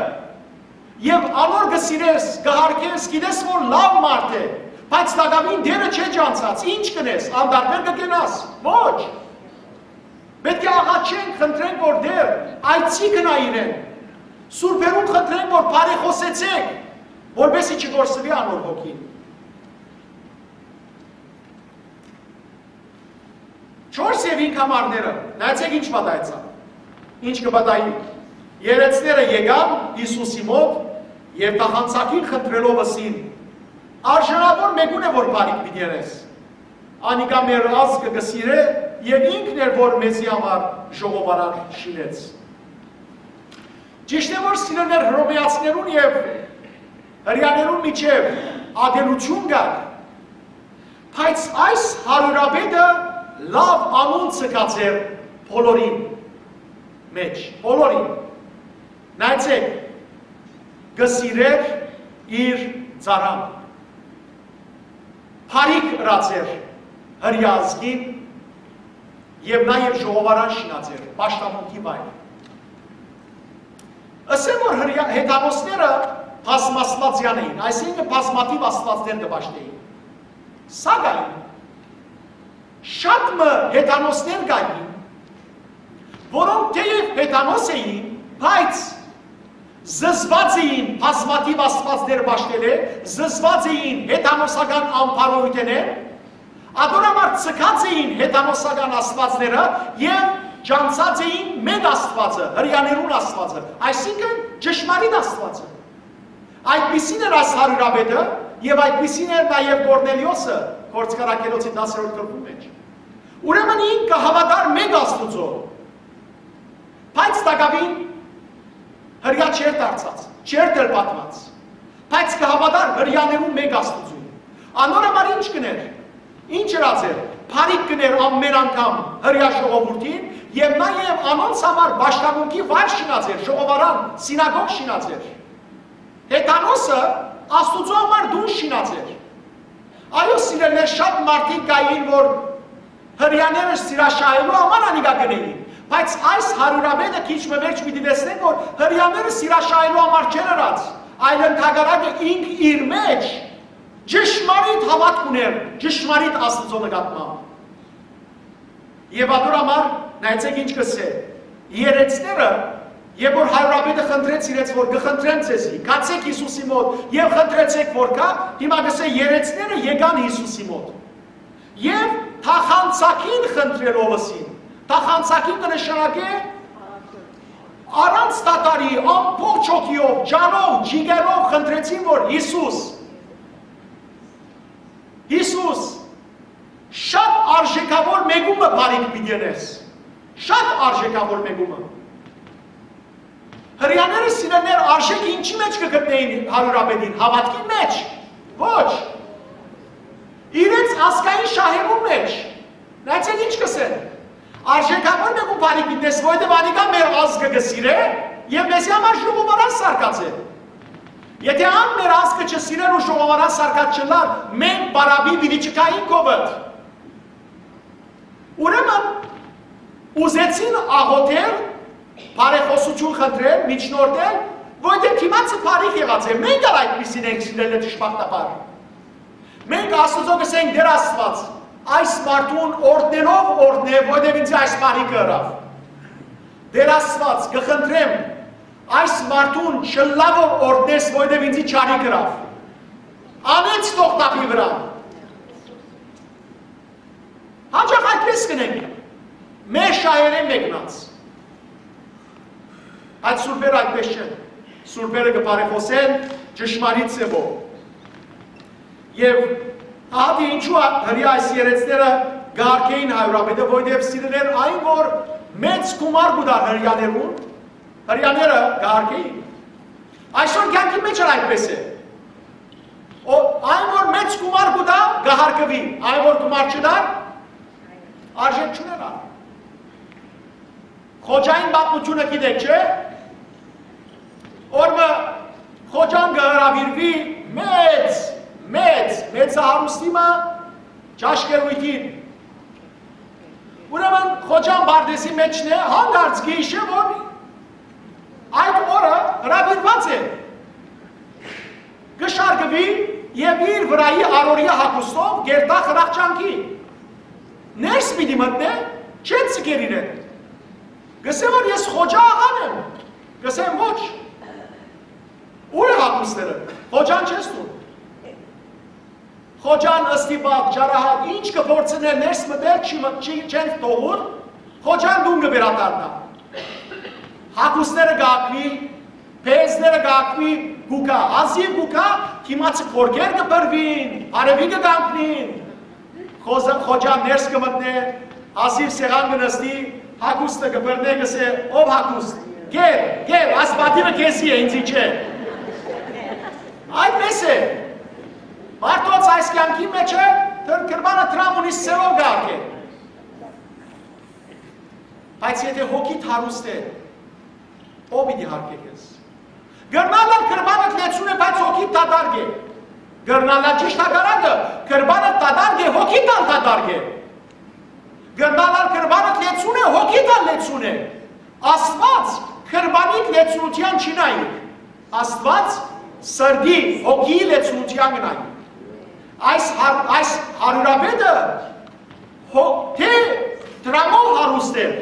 եւ անոր կը սիրես, կը յարգես, գիտես որ լաւ մարդ է, բայց տակաւին Տէրը չէ ճանչցած, ի՞նչ կ'ընես, անտարբեր կը կենաս։ Ոչ։ Պէտք է աղաչենք, խնդրենք, որ Տէր, այցի գնայ իրեն։ Սուրբերուն խնդրենք, որ բարեխօսեցէք, որպեսզի չկորսուի անոր հոգին։ Չորս եւ հինգ ամառները, նայեցէք ինչ պատահեցաւ։ Ինչ կը պատահի։ Երեցները եկան Յիսուսի մօտ եւ տախանցագին խնդրելով ըսին. «Արժանաւոր մէկուն է որ բարիք պիտի ընես։ Անիկա մեր ազգը կը սիրէ եւ ինքն էր որ մեզի համար ժողովարան շինեց»։ Ճիշդ է որ սիրելիներ, հռոմեացիներուն եւ հրեաներուն միջեւ ատելութիւն կար, բայց այս հարիւրապետը լաւ անուն ձգած էր բոլորին մէջ, բոլորին։ Նայեցէք, կը սիրէր իր ծառան։ Բարիք ըրած էր հրեայ ազգին եւ նաեւ ժողովարան շինած էր, պաշտամունքի վայր։ Ըսեմ որ հրեայ-, հեթանոսները բազմաստուածեան էին, այսինքն բազմաթիւ աստուածներ կը պաշտէին։ Սակայն շատ մը հեթանոսներ կային, որոնք թէեւ հեթանոս էին, բայց զզված էին բազմաթիւ աստուածներ պաշտելէ, զզված էին հեթանոսական ամբարոյութենէ, ատոր համար ձգած էին հեթանոսական աստուածները եւ ճանչցած էին մէկ Աստուածը, հրեաներուն Աստուածը, այսինքն ճշմարիտ Աստուածը։ Այդպիսին էր այս հարիւրապետը եւ այդպիսին էր նաեւ Կորնելիոսը, Գործարարներու դասերորդ գլխուն մէջ։ Ուրեմն ինք կը հաւատար մէկ Աստուծոյ, բայց տակաւին հրեայ չէր դարձած, չէր դրպատուած, բայց կը հաւատար հրեաներուն մէկ Աստուծոյ։ Անոր համար ի՞նչ կ'ընէր, ի՞նչ ըրած էր, բարիք կ'ընէր ամէն անգամ հրեայ ժողովուրդին եւ նաեւ անոնց համար պաշտամունքի վայր շինած էր, ժողովարան, սինագոգ շինած էր։ Հեթանոսը Աստուծոյ համար տուն շինած էր։ Այո, սիրելիներ, շատ մարդիկ կային, որ հրեաները սիրաշահելու համար անիկա կ'ընէին, բայց այս հարիւրապետը քիչ մը վերջ պիտի տեսնենք, որ հրեաները սիրաշահելու համար չէր ըրած, այլ ընդհակառակը ինք իր մէջ ճշմարիտ հաւատք ունէր ճշմարիտ Աստուծոյ նկատմամբ։ Եւ ատոր համար նայեցէք ինչ կ'ըսէ. երեցները, երբ որ հարիւրապետը խնդրեց իրենց, որ «Կը խնդրեմ ձեզի, գացէք Յիսուսի մօտ եւ խնդրեցէք որ գայ», հիմա կ'ըսէ. երեցները եկան Յիսուսի մօտ եւ թախանցագին խնդրելով ըսին։ Թախանցագին կը նշանակէ առանց դադարի, ամբողջ հոգիով, ջանով, ջիգերով խնդրեցին, որ «Յիսուս, Յիսուս, շատ արժեքաւոր մէկումը բարիք պիտի ընես»։ Շատ արժեքաւոր մէկումը։ Հրեաները, սիրելիներ, արժեքը ինչի՞ մէջ կը գտնէին հարիւրապետին, հաւատքին մէջ։ Ոչ։ Իրենց ազգային շահերուն մէջ։ Նայեցէք ինչ կ'ըսեն. «Արժեքաւոր մէկուն բարիք պիտի ընես, որովհետեւ անիկա մեր ազգը կը սիրէ եւ մեզի համար ժողովարան սարկած է»։ Եթէ ան մեր ազգը չսիրեր ու ժողովարան սարկած չըլլար, մենք պարապի պիտի չգայինք COVID։ Ուրեմն ուզեցին աղօթել, բարեխօսութիւն խնդրել, միջնորդել, որովհետեւ դիմացը բարիք եղած է։ Մենք ալ այդպիսին ենք, սիրելիներ, դժբախտաբար։ Մենք Աստուծոյ կ'ըսենք. «Տէր Աստուած, այս մարդուն օրհնելով օրհնէ, որովհետեւ ինձի այս բարիքը ըրաւ»։ «Տէր Աստուած, կը խնդրեմ, այս մարդուն չլաւով օրհնես, որովհետեւ ինձի չարիք ըրաւ»։ Անեց թող թափի վրայ։ Հաճախ այդպես կ'ընենք, մեր շահերէն մեկնած։ Այդ սուրբերը այդպես չեն։ Սուրբերը կը բարեխօսեն ճշմարիտ ձեւով։ Եւ ահա դե ինչու ա-, հրեա այս երեցները կ'արգէին հարիւրապետը, որովհետեւ սիրելիներ, այն որ մեծ գումար կու տար հրեաներուն, հրեաները կ'արգէին։ Այսօր կեանքի մէջ ալ այդպես է։ Ո-, այն որ մեծ գումար կու տայ, կը հարգուի, այն որ գումար չտայ, արժէք չունենայ։ Խոջային պատմութիւնը գիտէք, չէ՞։ Օր մը խոջան կը հրաւիրուի մեծ, մեծ, մեծահարուստի մը ճաշկերոյթին։ Ուրեմն խոջան պարտէզի մէջն է, հանկարծ կը յիշէ, որ այդ օրը հրաւիրուած է, կը շարժուի եւ իր վրայի առօրեայ հագուստով կ'երթայ խրախճանքի։ Ներս պիտի մտնէ, չեն ձգեր իրեն։ Կ'ըսէ, որ ես խոջա աղան եմ։ Կ'ըսեն, ոչ։ Ո՞ւր է հագուստները։ Խոջան չես տուն։ Խոջան, ըստ ի պահ, ճարահատ, ինչ կը փորձենէ ներս մտել, չի մտ-, չի, չեն թողուն, խոջան տուն կը վերադառնայ։ Հագուստները կ'ակուի, պարտէզները կ'ակուի, կու գայ, հազիւ կու գայ, դիմացի գորգեր կը բռնին, արեւի կը կանգնին։ Խոզը, խոջան ներս կը մտնէ, հազիւ սեղան կը նստի, հագուստը կը բռնէ, կ'ըսէ, «Ով հագուստ, կեր, կեր, այս պատիվը քեզի է, ինձի չէ»։ Այդպես է։ Մարդոց այս կեանքի մէջ է, դեռ կրպանը դրամ ունի, սելով կ'արգէ։ Բայց եթէ հոգիդ հարուստ է, ո՞վ պիտի յարգէ քեզ։ Կրնալ ալ կրպանդ լեցուն է, բայց հոգիդ դատարկ է։ Կրնալ ալ ճիշդ հակառակը, կրպանդ դատարկ է, հոգիդ ալ դատարկ է։ Կրնալ ալ կրպանդ լեցուն է, հոգիդ ալ լեցուն է։ Աստուած կրպանիդ լեցունութեան չի նայի։ Աստուած սրտի, հոգիի լեցունութեան կը նայի։ Այս հար-, այս հարիւրապետը հո-, թէ դրամով հարուստ էր,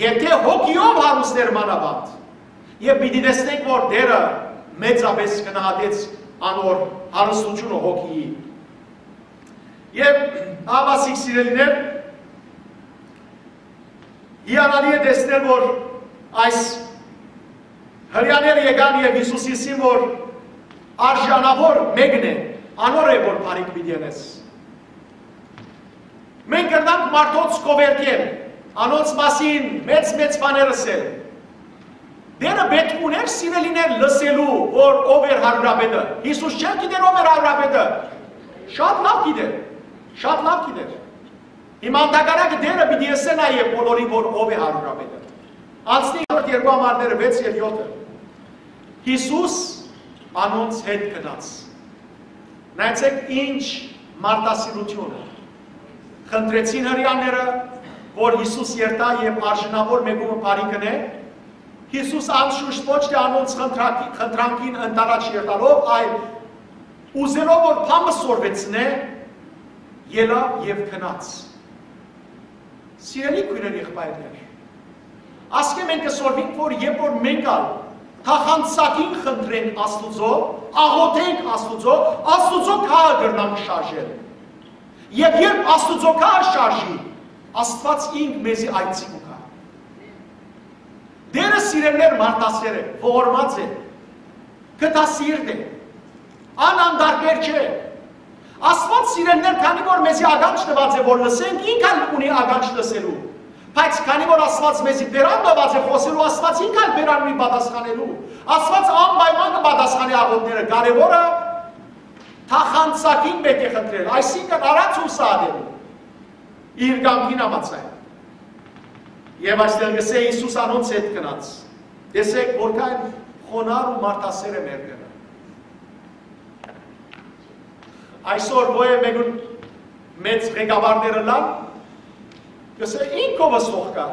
եւ թէ հոգիով հարուստ էր մանաւանդ։ Եւ պիտի տեսնենք, որ Տէրը մեծապէս գնահատեց անոր հարստութիւնը հոգիի։ Եւ ահա, սիրելիներ, հիանալի է տեսնել, որ այս հրեաները եկան եւ Յիսուսին ըսին, որ արժանաւոր մէկն է, անոր է, որ բարիք պիտի ընես։ Մենք կրնանք մարդոց կովերկել, անոնց մասին մեծ-մեծ բաներ ըսել։ Տէրը պէտք ունէր, սիրելիներ, լսելու, որ ով էր հարիւրապետը։ Յիսուս չէր գիտեր ով էր հարիւրապետը։ Շատ լաւ գիտեր, շատ լաւ գիտեր։ Հիմա ընդհակառակը Տէրը պիտի ըսէ նաեւ բոլորին, որ ով է հարիւրապետը։ Անցնի երկրորդ երկու համարները, վեց եւ յոթը։ Յիսուս անոնց հետ գնաց։ Նայեցէք, ինչ մարդասիրութիւն։ Խնդրեցին հրեաները, որ Յիսուս երթայ եւ արժանաւոր մէկումը բարիք ընէ։ Յիսուս անշուշտ ոչ թէ անոնց խնդրակի-, խնդրանքին ընդառաջ երթալով, այլ ուզելով որ բան մը սորվեցնէ, ելաւ եւ գնաց։ Սիրելի քոյրեր, եղբայրներ, ասկէ մենք կը սորվենք, որ երբ որ մենք ալ թախանցակին խնդրենք Աստուծոյ, աղօթենք Աստուծոյ, Աստուծոյ գահը կրնանք շարժել։ Եւ երբ Աստուծոյ գահը շարժի, Աստուած ինք մեզի այցի կու գայ։ Տէրը, սիրելիներ, մարդասէր է, ողորմած է, գթասիրտ է, անանդարբեր չէ։ Աստուած, սիրելիներ, քանի որ մեզի ականջ տուած է, որ լսենք, ինք ալ ունի ականջ լսելու։ Բայց քանի որ Աստուած մեզի բերան տուած է խօսելու, Աստուած ինք ալ բերան ունի պատասխանելու։ Աստուած անպայման կը պատասխանի աղօթքները։ Կարեւորը թախանցակին պէտք է խնդրել, այսինքն՝ առանց ուրսահատելու, իր կամքին համաձայն։ Եւ այստեղ կ'ըսէ, Յիսուս անոնց հետ գնաց։ Տեսէք, որքան խոնարհ ու մարդասէր է մեր Տէրը։ Այսօր ո-, մէկուն մեծ ղեկավարները լան, կ'ըսէ, «Ինքովս թող գայ,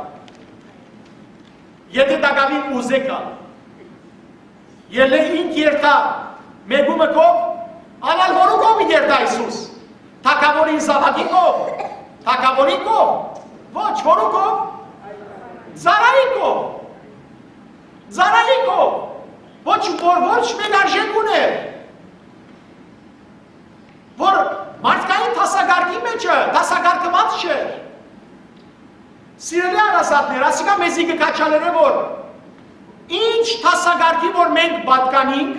եթէ տակաւին ուզէ գալ»։ Ելլէ ինք երթայ մէկումը քով, անալ որու քով երթայ Յիսուս։ Թագաւորին զաւակի քով, թագաւորի քով, ոչ, որու քով, ծառայի քով, ծառայի քով, ոչ, որ ոչ մէկ արժեք ունէր, որ մարդկային դասակարգի մէջը դասակարգուած չէր։ Սիրելի հարազատներ, ասիկա մեզի կը քաջալերէ, որ Ինչ դասակարգի որ մենք պատկանինք,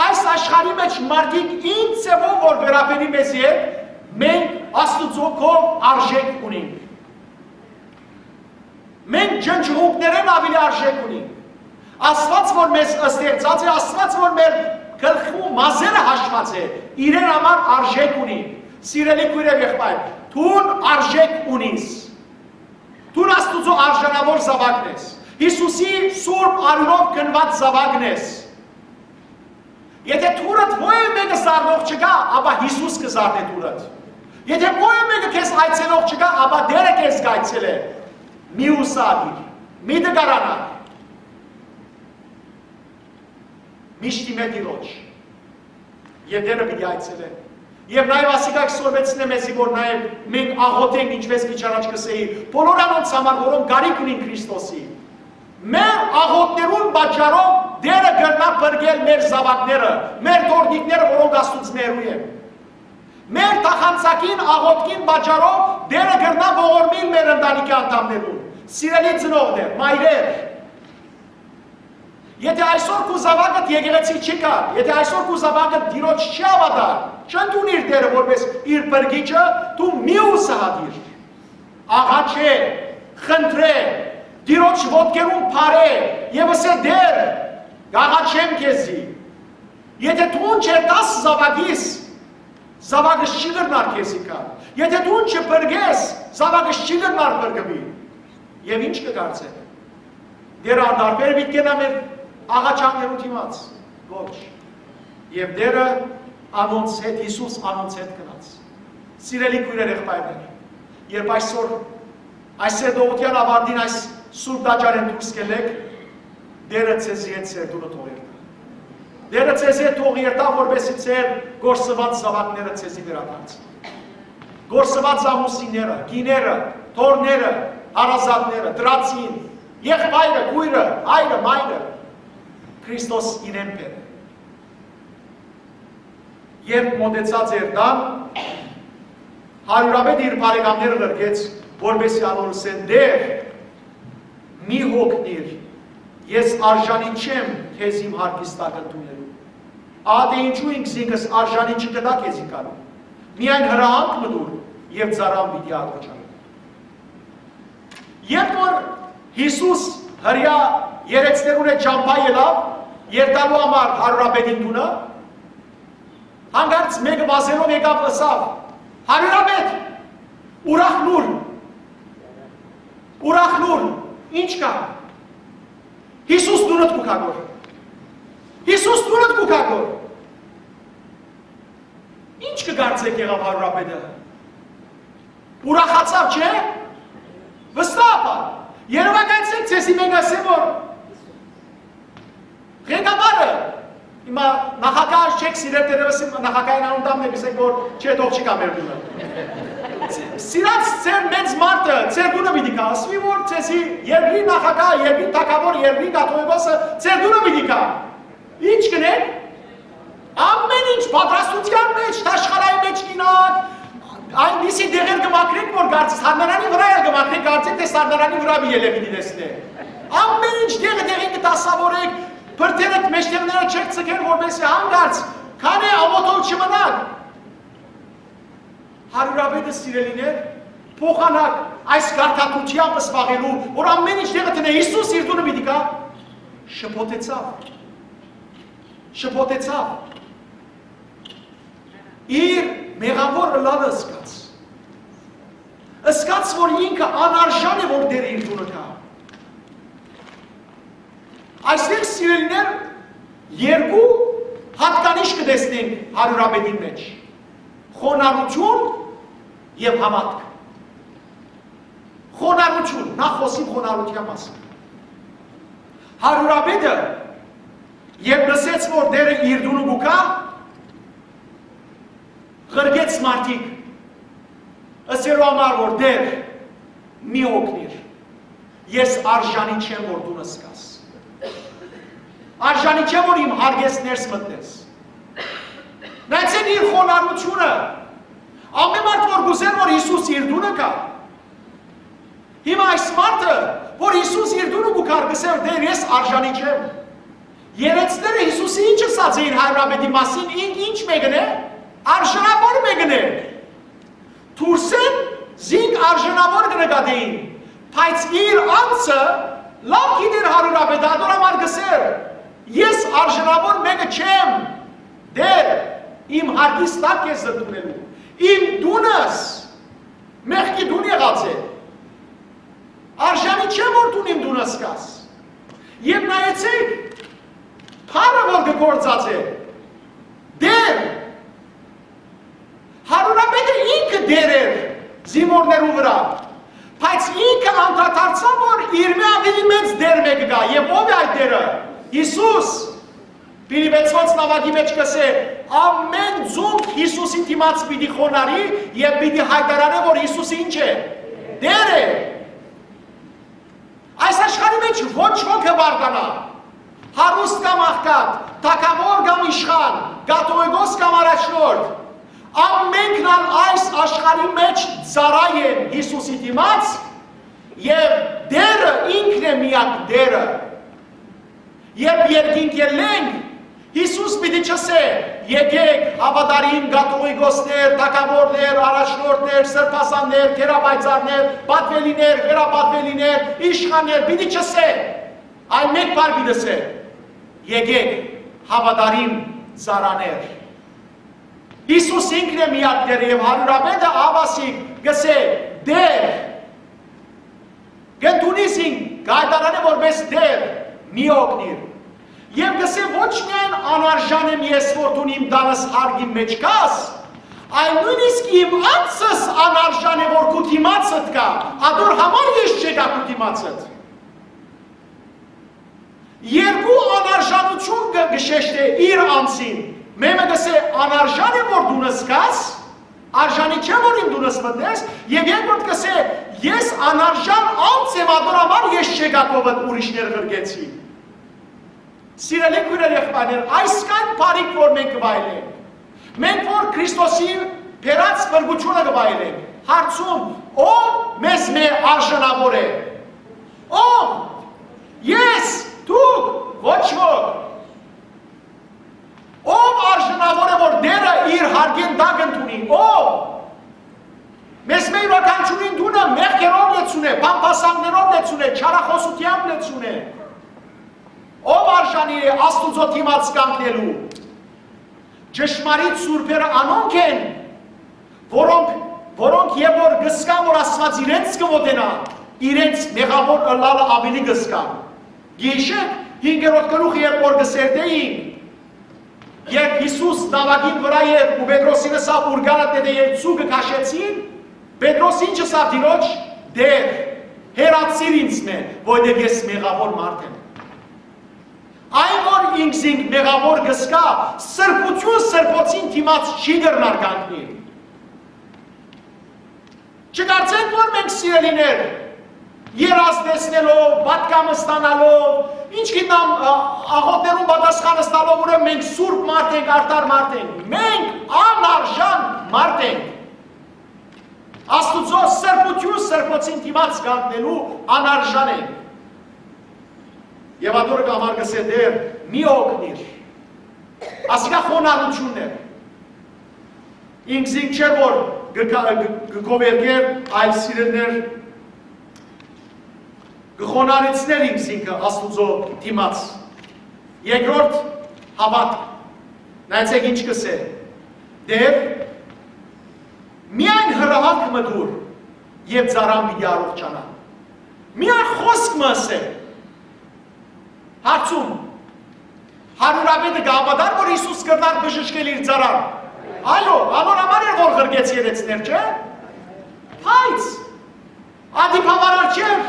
այս աշխարհի մէջ մարդիկ ինչ ձեւով որ վերաբերի մեզի հետ, մենք Աստուծոյ քով արժէք ունինք։ Մենք ջնջուղունքներէն աւելի արժէք ունինք։ Աստուած որ մեզ ստեղծած է, Աստուած որ մեր գլխու մազերը հաշված է, իրեն համար արժէք ունի։ Սիրելի քոյր եւ եղբայր, դուն արժէք ունիս։ Դուն Աստուծոյ արժանաւոր զաւակն ես։ Յիսուսի սուրբ արիւնով գնուած զաւակն ես։ Եթէ դուռդ ոեւ մէկը զարնող չկայ, ապա Յիսուս կը զարնէ դուռդ։ Եթէ ոեւ մէկը քեզ այցելող չկայ, ապա Տէրը քեզ կ'այցելէ։ Մի ուսա դիր, մի տկարանայ։ Միշտ իմէ Տիրոջ։ Եւ Տէրը պիտի այցելէ։ Եւ նաեւ ասիկա կը սորվեցնէ մեզի, որ նաեւ մենք աղօթենք, ինչպէս քիչ առաջ կ'ըսէի, բոլոր անոնց համար, որոնք կարիք ունին Քրիստոսի։ Մեր աղօթքներուն պատճառով Տէրը կրնայ փրկել մեր զաւակները, մեր թոռնիկները, որոնք Աստուծմէ հեռու են։ Մեր թախանցակին աղօթքին պատճառով Տէրը կրնայ ողորմիլ մեր ընտանիքի անդամներուն։ Սիրելի ծնողներ, մայրեր, եթէ այսօր քու զաւակդ եկեղեցի չի գար, եթէ այսօր քու զաւակդ Տիրոջ չի հաւատար, չընդունիր Տէրը որպես իր փրկիչը, դու մի ուսահատիր։ Աղաչէ, խնդրէ, Տիրոջ ոտքերուն փարէ եւ ըսէ. «Տէր, կ'աղաչեմ քեզի»։ Եթէ դուն չերթաս զաւակիս, զաւակս չի կրնար քեզի գալ։ Եթէ դուն չփրկես, զաւակս չի կրնար փրկուի։ Եւ ինչ կը կարծէք։ Տէրը անտարբեր պիտի կենայ մեր աղաչանքներու դիմաց։ Ոչ։ Եւ Տէրը անոնց հետ, Յիսուս անոնց հետ գնաց։ Սիրելի քոյրեր, եղբայրներ, երբ այսօր այս սերտողութեան աւարտին այս սուրբ տաճարէն դուրս կ'ելէք, Տէրը ձեզի հետ ձեր տունը թող երթայ։ Տէրը ձեզի հետ թող երթայ, որպեսզի ձեր կորսուած զաւակները ձեզի վերադարձնի։ Կորսուած ամուսինները, կիները, թոռները, հարազատները, դրացին, եղբայրը, քոյրը, հայրը, մայրը, Քրիստոս իրեն բերէ։ Երբ մօտեցած էր տան, հարիւրապետը իր բարեկամները ղրկեց, որպեսզի անոր ըսեն. «Տէր, մի հոգնիր, ես արժանի չեմ քեզ իմ հարկիս տակ ընդունելու։ Ահա թէ ինչու ինքզինքս արժանի չկտայ քեզի գալու։ Միայն հրահանգ մը տուր եւ ծառան պիտի աղաչանայ»։ Երբ որ Յիսուս հրեայ երեցներուն հետ ճամբայ ելաւ երթալու համար հարիւրապետին տունը, հանկարծ մէկը վազելով եկաւ, ըսաւ. «Հարիւրապետ, ուրախ լուր, ուրախ լուր, ինչ կայ»։ Յիսուս տունդ կու գայ գոր։ Յիսուս տունդ կու գայ գոր։ Ինչ կը կարծէք, եղաւ հարիւրապետը։ Ուրախացաւ, չէ՞։ Վստահաբար։ Երեւակայեցէք, ձեզի մէկը ըսէ, որ ղեկավարը, հիմա նախագահ չեք սիրել, դեռևս նախագահին անունն տամ, եք ըսեք, որ չէ, թող չի գայ մեր տունը։ Սիրած ձեր մեծ մարդը ձեր տունը պիտի գայ, ասուի, որ ձեզի երկրի նախագահ, երկրի թագաւոր, երկրի կաթողիկոսը ձեր տունը պիտի գայ։ Ինչ կ'ընեք։ Ամէն ինչ պատրաստութեան մէջ, թաշկարայի մէջ կ'ինաք, այնպիսի տեղեր կը մաքրեք, որ կարծես սառնարանի վրայ ալ կը մաքրեք, կարծեք թէ սառնարանի վրայ պիտի ելէ պիտի տեսնէ։ Ամէն ինչ տեղը տեղին կը դասաւորեք, բրդերդ մէջտեղները չեք ձգեր, որպեսզի հանկարծ քանի աղօթող չմնաք։ Հարիւրապետը, սիրելիներ, փոխանակ այս կարգադրութեամբ զբաղելու, որ ամէն ինչ տեղը դնէ, Յիսուս իր տունը պիտի գայ, շփոթեցաւ, շփոթեցաւ, իր մեղաւոր ըլլալը զգաց, զգաց, որ ինքը անարժան է, որ Տէրը իր տունը գայ։ Այստեղ, սիրելիներ, երկու յատկանիշ կը տեսնենք հարիւրապետին մէջ. խոնարհութիւն եւ հաւատք։ Խոնարհութիւն, նախ խօսիմ խոնարհութեան մասին։ Հարիւրապետը, երբ լսեց, որ Տէրը իր տունը կու գայ, ղրկեց մարդիկ, ըսելու համար, որ Տէր, մի օգնիր, ես արժանի չեմ, որ տունս գաս։ Արժանի չեմ, որ իմ հարկես ներս մտնես։ Նայեցէք իր խոնարհութիւնը։ Ամէն մարդ, որ կ'ուզէր, որ Յիսուս իր տունը գայ, Հիմա այս մարդը, որ Յիսուս իր տունը կու գար, կ'ըսէր. «Տէր, ես արժանի չեմ»։ Երեցները Յիսուսի ինչ ըսած էին հայրապետի մասին, ինք ինչ մեկն է, արժանաւոր մեկն է։ Դուրսէն զինք արժանաւոր կը նկատէին, բայց իր անձը լաւ գիտէր հայրապետը, ատոր համար կ'ըսէր. «Ես արժանաւոր մեկը չեմ, Տէր, իմ հարկիս տակ ես ընդունելու, իմ տունս մեղքի տուն եղած է։ Արժանի չեմ, որ դուն իմ տունս գաս»։ Եւ նայեցէք, բառը որ կը գործած է, Տէր, Հարուրապետը ինքը Տէր էր զինուորներու վրայ, բայց ինքը անդրադարձաւ, որ իրմէ աւելի մեծ Տէր մէկը կայ, եւ ո՞վ է այդ Տէրը։ Յիսուս։ Փիլիպեցոց նամակի մէջ կ'ըսէ. «Ամէն ծունկ Յիսուսի դիմաց պիտի խոնարհի եւ պիտի յայտարանէ, որ Յիսուս ինչ է, Տէր է»։ Այս աշխարհի մէջ ոչ ոք կը վարդանայ, հարուստ կամ աղքատ, թագաւոր կամ իշխան, կաթողիկոս կամ առաջնորդ։ Ամենքն ալ այս աշխարհի մէջ ծառայ են Յիսուսի դիմաց, եւ Տէրը ինքն է միակ Տէրը։ Երբ երկինք ելլենք, Յիսուս պիտի չըսէ. «Եկէք, հաւատարիմ կաթողիկոսներ, թագաւորներ, առաջնորդներ, սրբազաններ, գերապայծառներ, պատվելիներ, վերապատվելիներ, իշխաններ», պիտի չըսէ, այլ մէկ բառ պիտի ըսէ. «Եկէք, հաւատարիմ ծառաներ»։ Յիսուս ինքն է միակ Տէրը, եւ հարիւրապետը աբասիկ կ'ըսէ. «Տէր, կ'ընդունի զինք, կ'այտարանէ որպէս Տէր, մի օգնիր»։ Եւ կ'ըսէ. «Ոչ միայն անարժան եմ ես, որ դուն իմ տանս հարկին մէջ գաս, այլ նոյնիսկ իմ անձս անարժան է, որ քու դիմացդ գայ, ատոր համար ես չեկայ քու դիմացդ»։ Երկու անարժանութիւն կը, կը շեշտէ իր անձին։ Մէկը կ'ըսէ. «Անարժան եմ, որ դունս գաս, արժանի չեմ, որ իմ տունս մտնես», եւ երկրորդ կ'ըսէ. «Ես անարժան անձ եմ, ատոր համար ես չեկայ քովդ ուրիշներ ղրկեցի»։ Սիրելի քոյրեր, եղբայրներ, այսքան բարիք որ մենք կը վայելենք, մենք որ Քրիստոսի բերած փրկութիւնը կը վայելենք, հարցում. ո՞վ մեզմէ արժանաւոր է։ Ո՞վ։ Ես, դուք, ոչ ոք։ Ո՞վ արժանաւոր է, որ Տէրը իր հարկին տակ ընդունի։ Ո՞վ։ Մեզմէ իւրաքանչիւրին տունը մեղքերով լեցուն է, բամբասանքներով լեցուն է, չարախօսութեամբ լեցուն է։ Ո՞վ արժանի է Աստուծոյ դիմաց կանգնելու։ Ճշմարիտ սուրբերը անոնք են, որոնք, որոնք երբ որ կ'ըսկան, որ Աստուած իրենց կը մոտենայ, իրենց մեղաւոր ըլլալը աւելի կ'ըսկան։ Գիշեր հինգերորդ գլուխը երբ որ կը սերտէին, երբ Յիսուս նաւակին վրայ էր ու Պետրոսին ըսաւ. «Ուրկանը դեդե, երբ ցուկը քաշեցին», Պետրոս ինչ ըսաւ Տիրոջ. «Տէր, հեռացիր ինձմէ, որովհետեւ ես մեղաւոր մարդ եմ»։ Այն որ ինքզինք մեղաւոր կ'ըսկայ, սրբութիւն սրբոցին դիմաց չի կրնար կանգնիլ։ Չկարծենք, որ մենք, սիրելիներ, երազ տեսնելով, պատգամ ստանալով, ինչ գիտեմ, ա-, աղոթներուն պատասխան ստանալով, ուրեմն մենք սուրբ մարդ ենք, արդար մարդ ենք։ Մենք անարժան մարդ ենք։ Աստուծոյ սրբութիւն սրբոցին դիմաց կանգնելու անարժան ենք։ Եւ ատորը կ'ամարկսէ. «Տէր, մի օգնիր»։ Ասիկա խոնարհութիւնն էր։ Ինքզինք չէ, որ կը կա-, կը, կը գովերգեր, այլ, սիրելիներ, կը խոնարհեցներ ինքզինքը Աստուծոյ դիմաց։ Երկրորդ, հաւատք։ Նայեցէք ինչ կ'ըսէ. «Տէր, միայն հրահանգ մը տուր, եւ ծառան պիտի առողջանայ»։ Միայն խօսք մը ըսէ։ Հարցում. հարիւրապետը կը հաւատար, որ Յիսուս կրնար բժշկել իր ծառան։ Այո, անոր համար էր, որ ղրկեց երեցներ, չէ՞։ Բայց ատի բաւարար չէր։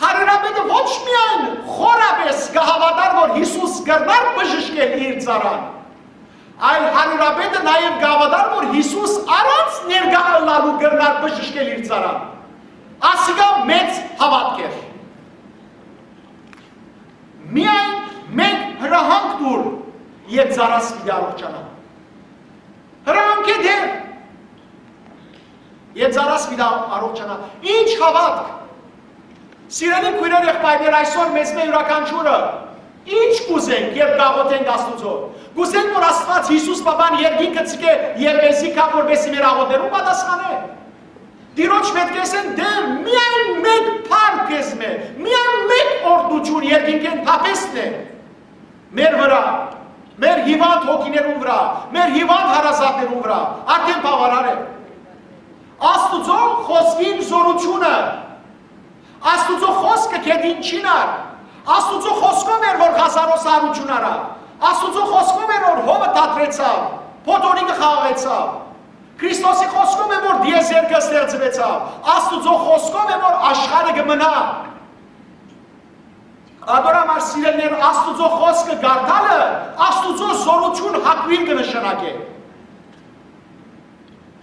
Հարիւրապետը ոչ միայն խորապէս կը հաւատար, որ Յիսուս կրնար բժշկել իր ծառան, այլ հարիւրապետը նաեւ կը հաւատար, որ Յիսուս առանց ներկայ ըլլալու կրնար բժշկել իր ծառան։ Ասիկա մեծ հաւատք էր։ «Միայն մէկ հրահանգ տուր, եւ ծառաս պիտի առողջանայ»։ Հրահանգ է Տէր։ Եւ ծառաս պիտի առողջանայ։ Ի՞նչ հաւատք։ Սիրելի քոյրեր, եղբայրներ, այսօր մեզմէ իւրաքանչիւրը ի՞նչ կ'ուզենք, երբ կ'աղօթենք Աստուծոյ։ Կ'ուզենք, որ Աստուած, Յիսուս Պապան երկինքը ձգէ եւ մեզի գայ, որպէսզի մեր աղօթքներուն պատասխանէ։ Տիրոջ մէջ կ'ըսեն. «Տէր, միայն մէկ բան քեզմէ, միայն մէկ օրհնութիւն երկինքէն թափեցնէ մեր վրայ, մեր հիւանդ հոգիներուն վրայ, մեր հիւանդ հարազատներուն վրայ, արդէն բաւարար է»։ Աստուծոյ խօսքին զօրութիւնը, Աստուծոյ խօսքը գետին չին առ, Աստուծոյ խօսքով էր, որ Ղազարոս արութիւն առաւ, Աստուծոյ խօսքով էր, որ հովը դադրեցաւ, փոթորիկը խաղաղեցաւ, Քրիստոսի խօսքով է, որ տիեզերքը ստեղծուեցաւ, Աստուծոյ խօսքով է, որ աշխարհը կը մնայ։ Ատոր համար, սիրելիներ, Աստուծոյ խօսքը կարդալը Աստուծոյ զօրութիւն հակոյն կը նշանակէ։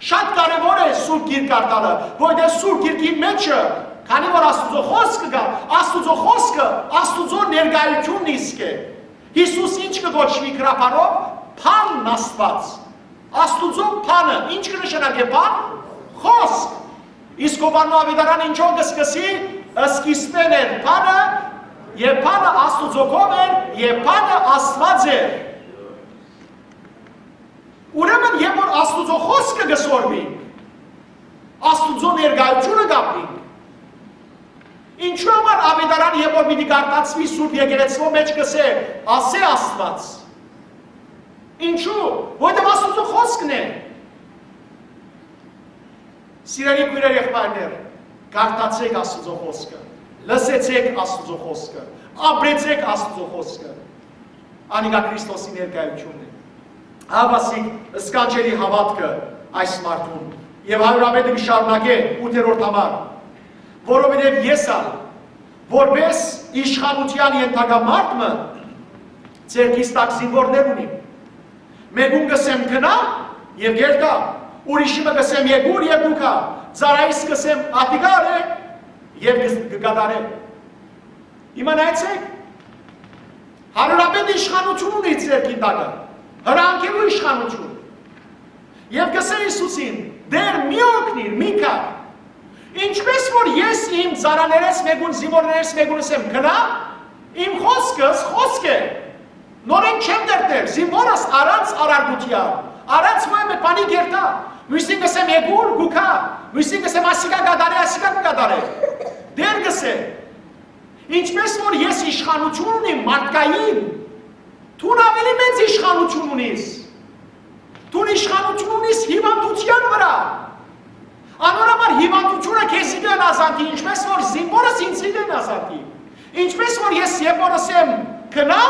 Շատ կարեւոր է Սուրբ Գիրք կարդալը, որովհետեւ Սուրբ Գիրքին մէջը, քանի որ Աստուծոյ խօսքը կայ, Աստուծոյ խօսքը Աստուծոյ ներկայութիւնն իսկ է։ Յիսուս ի՞նչ կը կոչուի գրաբարով, բանն Աստուած։ Աստուծոյ բանը ի՞նչ կը նշանակէ բան, խօսք։ Իսկ Յովհաննէ Աւետարանը ինչո՞վ կը սկսի, սկիզբէն էր բանը, եւ բանը Աստուծոյ կողմէ էր, եւ բանը Աստուած էր։ Ուրեմն, երբ որ Աստուծոյ խօսքը կը սորվի, Աստուծոյ ներկայութիւնը կ'ապրի։ Ինչո՞ւ համար Աւետարան, երբ որ պիտի կարդացուի Սուրբ Եկեղեցւոյ մէջ, կ'ըսէ. «Ասէ Աստուած»։ Ինչո՞ւ, որովհետեւ Աստուծոյ խօսքն է։ Սիրելի քոյրեր, եղբայրներ, կարդացէք Աստուծոյ խօսքը, լսեցէք Աստուծոյ խօսքը, ապրեցէք Աստուծոյ խօսքը։ Անիկա Քրիստոսի ներկայութիւնն է։ Ահա, ասիկ, սքանչելի հաւատքը այս մարդուն։ Եւ հարիւրապետը կը շարունակէ ութերորդ համար. «Որովհետեւ ես ալ, որպէս իշխանութեան ենթակայ մարդ մը, ձեռքիս տակ զինուորներ ունիմ։ Մէկուն կ'ըսեմ. "Գնա", եւ կ'երթայ, ուրիշի մը կ'ըսեմ. "Եկուր", եւ կու գայ, ծառայիս կ'ըսեմ. "Ատիկա առէ", եւ կը, կը կատարէ"։ Իմացե՞ք, հարիւրապետը իշխանութիւն ունի իր ձեռքին տակը, հրահանգելու իշխանութիւն։ Եւ կ'ըսէ Յիսուսին. "Տէր, մի օգնիր, մի գար"։ Ինչպէս որ ես իմ ծառաներէս մէկուն, զինուորներէս մէկուն ըսեմ. "Գնա", իմ խօսքս խօսք է։ Նորէն չեմ դերտեր, զինուորս առանց առարկութեան, առանց որեւէ բանի կ'երթայ։ Միւսին կ'ըսեմ. "Եկուր", կու գայ, միւսին կ'ըսեմ. "Ասիկա կատարէ", ասիկա կը կատարէ։ Տէր կ'ըսէ. "Ինչպէս որ ես իշխանութիւն ունիմ մարդկային, դուն աւելի մեծ իշխանութիւն ունիս։ Դուն իշխանութիւն ունիս հիւանդութեան վրայ։ Անոր համար հիւանդութիւնը քեզի կը հնազանդի, ինչպէս որ զինուորս ինծի կը հնազանդի։ Ինչպէս որ ես երբ որ ըսեմ. "Գնա",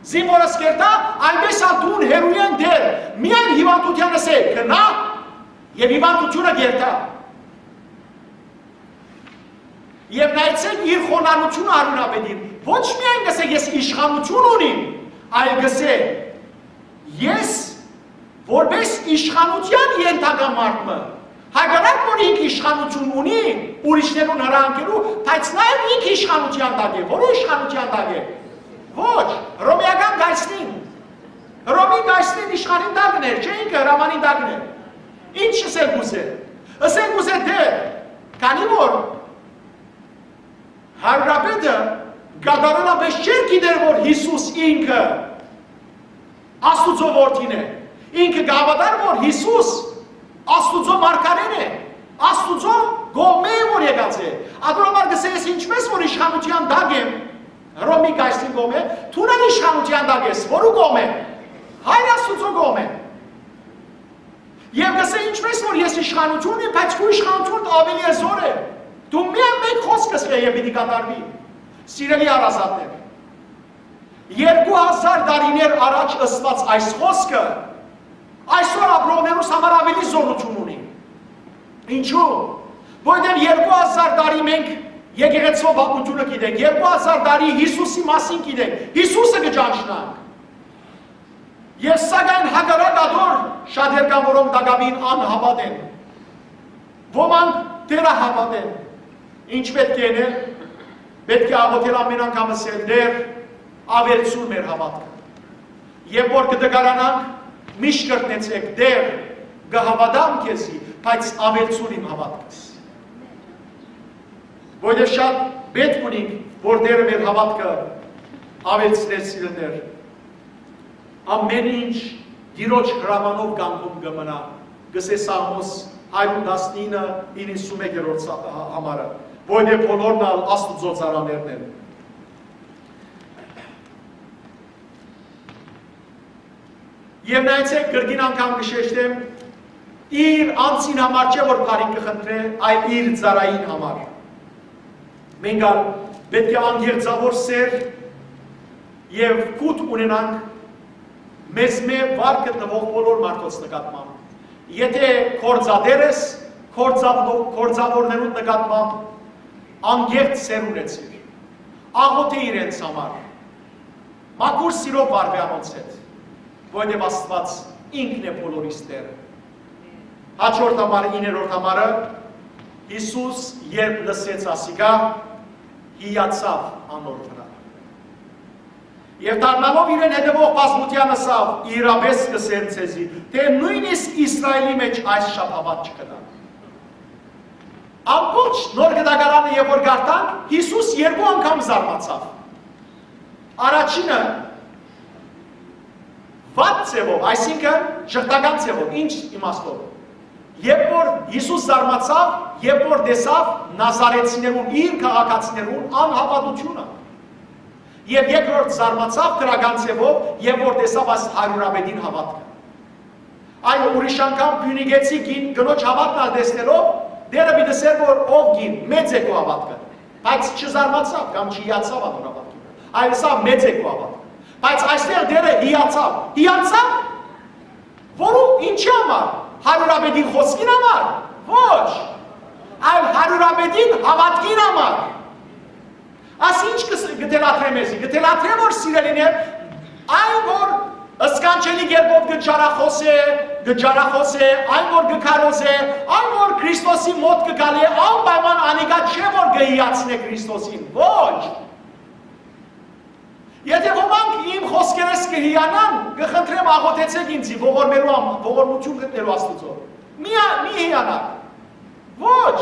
զինուորս կ'երթայ, այնպէս ալ դուն հեռուէն դեր, միայն հիւանդութեան ըսէ. "Գնա", եւ հիւանդութիւնը կ'երթայ"։ Եւ նայեցէք իր խոնարհութիւնը, հարիւրապետին։ Ոչ միայն կ'ըսէ. "Ես իշխանութիւն ունիմ", այլ կ'ըսէ. "Ես որպէս իշխանութեան ենթակայ մարդ մը", հակառակ որ ինք իշխանութիւն ունի ուրիշներուն հրահանգելու, բայց նաեւ ինք իշխանութեան տակ է։ Որո՞ւ իշխանութեան տակ է։ Ոչ, հռոմէական կայսրին։ Հռոմի կայսրին իշխանին տակն էր, չէ՞, ինքը հրամանին տակն էր։ Ինչ ըսել կ'ուզէ։ Ըսել կ'ուզէ. "Տէր", քանի որ հարիւրապետը կատարելապէս չէր գիտեր, որ Յիսուս ինքը Աստուծոյ որդին է։ Ինքը կ'հաւատար, որ Յիսուս Աստուծոյ մարգարէն է, Աստուծոյ կողմէ է, որ եկած է։ Ատոր համար կ'ըսէ. "Ես ինչպէս որ իշխանութեան տակ եմ, Հռոմի կայսրին կողմէ, դուն ալ իշխանութեան տակ ես"։ Որու կողմէ։ Հայր Աստուծոյ կողմէ։ Եւ կ'ըսէ. "Ինչպէս որ ես իշխանութիւն ունի, բայց քու իշխանութիւնդ աւելի է զօր է։ Դու միայն մէկ խօսք ըսէ եւ պիտի կատարուի"։ Սիրելի հարազատներ, երկու հազար տարիներ առաջ ըսուած այս խօսքը այսօր ապրողներուս համար աւելի զօրութիւն ունի։ Ինչու՞։ Որովհետեւ երկու հազար տարի մենք եկեղեցւոյ պատմութիւնը գիտենք, երկու հազար տարի Յիսուսի մասին գիտենք, Յիսուսը կը ճանչնանք։ Եւ սակայն հակառակ ատոր շատեր կան, որոնք տակաւին անհաւատ են։ Ոմանք դեռ հաւատ են։ Ինչ պէտք է ընել։ Պէտք է աղօթել, ամեն անգամ ըսել. "Տէր, աւելցուր մեր հաւատքը"։ Երբ որ կը տկարանանք, միշտ կրկնեցէք. "Տէր, կը հաւատամ քեզի, բայց աւելցուր իմ հաւատքս։ Որովհետեւ շատ պէտք ունինք, որ Տէրը մեր հաւատքը աւելցնէ, սիրելիներ։ Ամէն ինչ Տիրոջ հրամանով կանգուն կը մնայ, կ'ըսէ Սաղմոս հարիւր տասնինը, իննսունմէկերորդ սա-, հա-, համարը, որովհետեւ բոլորն ալ Աստուծոյ ծառաներն են։ Եւ նայեցէք, կրկին անգամ կը շեշտեմ, իր անձին համար չէ, որ բարիք կը խնդրէ, այլ իր ծառային համար։ Մենք ալ պէտք է անկեղծաւոր սէր եւ կուտ ունենանք մեզմէ վար գտնուող բոլոր մարդոց նկատմամբ։ Եթէ գործատէր ես, գործաւորներուն նկատմամբ անկեղծ սէր ունեցիր, աղօթէ իրենց համար, մաքուր սիրով վարուէ անոնց հետ, որովհետեւ Աստուած ինքն է բոլորիս Տէրը։ Հաջորդ համարը, իններորդ համարը, Յիսուս երբ լսեց ասիկա, հիացաւ անոր վրայ։ Եւ դառնալով իրեն հետեւող բազմութեան ըսաւ. «Իրապէս կ'ըսեմ ձեզի, թէ նոյնիսկ Իսրայէլի մէջ այս շաբաւատ չկտան»։ Ամբողջ Նոր Կտակարանը երբ որ կարդանք, Յիսուս երկու անգամ զարմացաւ։ Առաջինը, վատ ձևով, այսինքն՝ ժխտական ձևով, ինչ իմաստով։ Երբ որ Յիսուս զարմացաւ, երբ որ տեսաւ նազարեցիներուն, իր քաղաքացիներուն անհաւատութիւնը, եւ երկրորդ զարմացաւ դրական ձևով, երբ որ տեսաւ այս հարիւրապետին հաւատքը։ Այո, ուրիշ անգամ փիւնիկեցի կին կնոջ հաւատքն ալ տեսնելով, Տէրը պիտի ըսէր, որ ով կին, մեծ է քու հաւատքը, բայց չզարմացաւ կամ չհիացաւ անոր հաւատքին, այլ ըսաւ. «Մեծ է քու հաւատքը»։ Բայց այստեղ Տէրը հիացաւ։ Հիացաւ, որու, ինչի համար, հարիւրապետին խօսքին համար, ոչ, այլ հարիւրապետին հաւատքին համար։ Աս ինչ կը ս-, կը թելադրէ մեզի, կը թելադրէ, որ, սիրելիներ, այն, որ սքանչելի կերպով կը ճարախոսէ, կը ճարախոսէ, այն, որ կը քարոզէ, այն, որ Քրիստոսի մօտ կը գալէ, անպայման անիկա չէ, որ կը հիացնէ Քրիստոսին։ Ոչ։ Եթէ ոմանք իմ խօսքերէս կը հիանան, կը խնդրեմ, աղօթեցէք ինծի ողորմելու համ-, ողորմութիւն գտնելու Աստուծոյ։ Մի ա-, մի հիանաք։ Ոչ։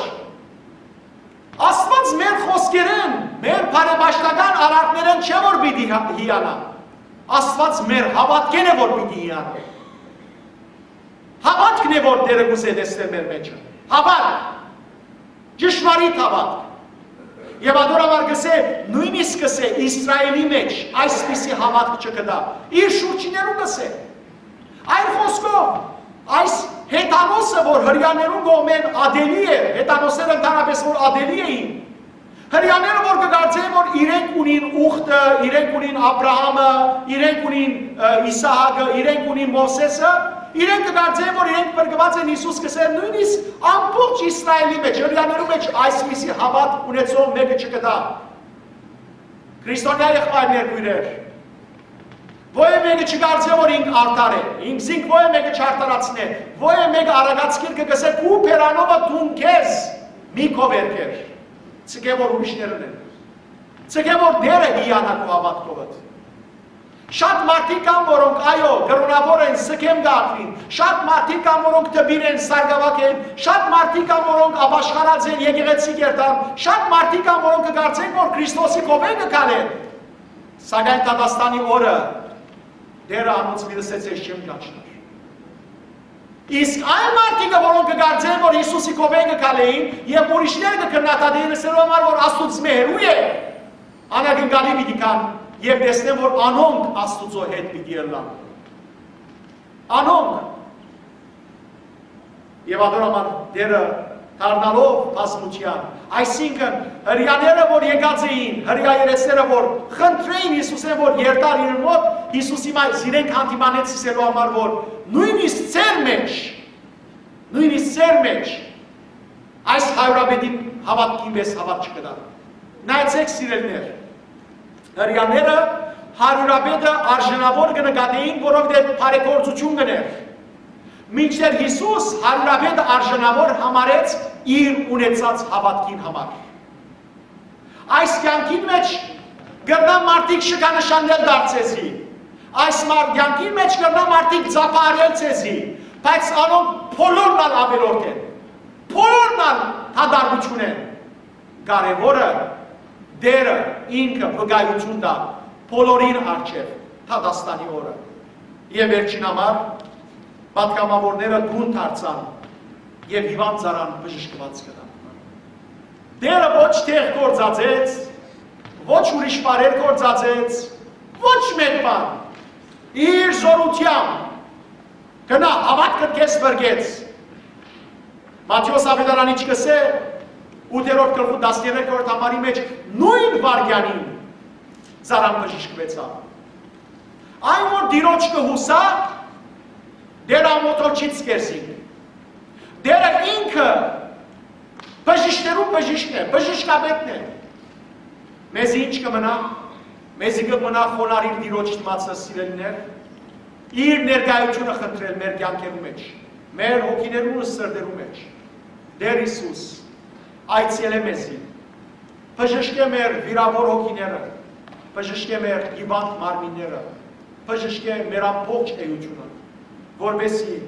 Աստուած մեր խօսքերէն, մեր բարեպաշտական արարքներէն չէ, որ պիտի հա-, հիանայ։ Աստուած մեր հաւատքէն է, որ պիտի հիանայ։ Հաւատքն է, որ Տէրը կ'ուզէ տեսնել մեր մէջը։ Հաւատք։ Ճշմարիտ հաւատք։ Եւ ատոր համար կ'ըսէ, նոյնիսկ կ'ըսէ, Իսրայէլի մէջ այսպիսի հաւատք չկտայ։ Իր շուրջիներուն կ'ըսէ։ Այլ խօսքով, այս հեթանոսը, որ հրեաներուն կողմէն ատելի էր, հեթանոսները ընդհանրապէս որ ատելի էին, հրեաները որ կը կարծէին, որ իրենք ունին ուխտը, իրենք ունին Աբրահամը, իրենք ունին, ը, Իսահակը, իրենք ունին Մովսէսը, իրենք կը կարծէին, որ իրենք փրկուած են, Յիսուս կ'ըսէր, նոյնիսկ ամբողջ Իսրայէլի մէջ, հրեաներու մէջ այսպիսի հաւատք ունեցող մէկը չկտայ։ Քրիստոնեայ եղբայրներ, քոյրեր, ոեւ մէկը չկարծէ, որ ինք արդար է, ինքզինք ոեւ մէկը չարդարացնէ, ոեւ մէկը Արագած գիրքը կ'ըսէ, քու բերանովը դուն քեզ մի քովերգեր, ցկէ որ ուրիշներն են, ցկէ որ Տէրը հիանայ քու հաւատքովդ։ Շատ մարդիկ կան, որոնք, այո, կրօնաւոր են, սքեմ կը ատուին, շատ մարդիկ կան, որոնք դպիր են, սարկաւագ են, շատ մարդիկ կան, որոնք ապաշխարած են, եկեղեցի կ'երթան, շատ մարդիկ կան, որոնք կը կարծեն, որ Քրիստոսի քովէն կը քալեն, սակայն դատաստանի օրը Տէրը անոնց պիտի ըսէ. «Ձեզ չեմ ճանչնար»։ Իսկ այն մարդիկը, որոնք կը կարծեն, որ Յիսուսի քովէն կը քալէին եւ ուրիշներ կը քննադատէին, ըսելու համար, որ Աստուծմէ հեռու է, անակնկալի պիտի գան եւ տեսնեն, որ անոնք Աստուծոյ հետ պիտի ըլլան։ Անոնք։ Եւ ատոր համար Տէրը դառնալով բազմութեան, այսինքն՝ հրեաները, որ եկած էին, հրեաերեսները, որ խնդրէին Յիսուսէն, որ երթար իրեն մօտ, Յիսուս հիմա զիրենք հանդիմանեց ըսելու համար, որ նոյնիսկ ձեր մէջ, նոյնիսկ ձեր մէջ այս հարիւրապետին հաւատքին պէս հաւատք չկտայ։ Նայեցէք, սիրելիներ, հրեաները հարիւրապետը արժանաւոր կը նկատէին, որովհետեւ բարեգործութիւն կ'ընէր, մինչդեռ Յիսուս հարիւրապետը արժանաւոր համարեց իր ունեցած հաւատքին համար։ Այս կեանքին մէջ կրնան մարդիկ շքանշաններ տալ ձեզի, այս մար-, կեանքին մէջ կրնան մարդիկ ծափարել ձեզի, բայց անոնք բոլորն ալ աւելորդ են։ Բոլորն ալ դատարկութիւն են։ Կարեւորը՝ Տէրը ինքը վկայութիւն տայ բոլորին առջեւ դատաստանի օրը։ Եւ վերջին համար, պատգամաւորները տուն դարձան եւ հիւանդ ծառան բժշկուած գնան։ Տէրը ոչ թեղ գործածեց, ոչ ուրիշ բառեր գործածեց, ոչ մէկ բան։ Իր զօրութեամբ գնա, հաւատքդ քեզ փրկեց։ Մատթէոս աւետարան ինչ կ'ըսէ, ութերորդ գլխու տասներկերորդ համարի մէջ, նոյն վայրկեանին ծառան բժշկուեցաւ։ Այն որ Տիրոջ կը յուսայ, Տէրը ամոթոլ չի ձգեր զինք։ Տէրը ինքը բժիշկներուն բժիշկն է, բժշկապետն է։ Մեզի ինչ կը մնայ։ Մեզի կը մնայ խոնարհիլ Տիրոջ դիմացը, սիրելիներ, իր ներկայութիւնը խնդրել մեր կեանքերու մէջ, մեր հոգիներուն ու սրտերու մէջ։ Տէր Յիսուս, այցելէ մեզի, բժշկէ մեր վիրաւոր հոգիները, բժշկէ մեր հիւանդ մարմինները, բժշկէ մեր ամբողջ էութիւնը, որպէսզի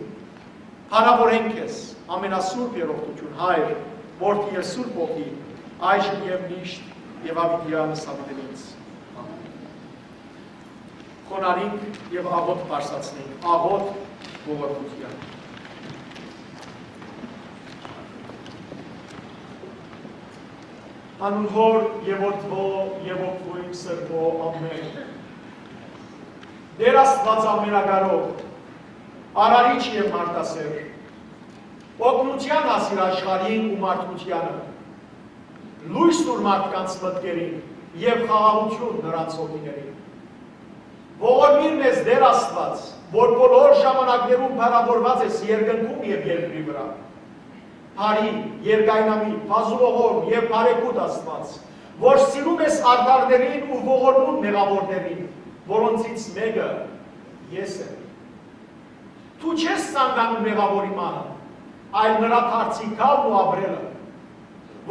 փառաւորենք քեզ, ամենասուրբ երախտութիւն, Հայր, Որդի եւ Սուրբ Հոգի, այժմ եւ միշտ եւ աւիտեանս աւիտենից։ Խոնարհինք եւ աղօթք բարձրացնենք, աղօթք ողորմութեան։ Անուն Հօր եւ Որդւոյ եւ Հոգւոյն Սրբոյ, ամէն։ Տէր Աստուած ամենակարող, արարիչ եւ մարդասէր, օգնութեան հասիր աշխարհին ու մարդկությանը, լոյս տուր մարդկանց մտքերին եւ խաղաղութիւն նրանց հոգիներին։ Ողորմիր մեզ, Տէր Աստուած, որ բոլոր ժամանակներուն փառաւորուած ես երկնքում եւ երկրի վրայ։ Բարի, երկայնամի, բազուողորմ եւ բարեգութ Աստուած, որ սիրում ես արդարներին ու ողորմուն մեղաւորներին, որոնցից մէկը ես եմ։ Դու չես ցանկանում մեղաւորի մահը, այլ նրա դարձի գալն ու ապրելը,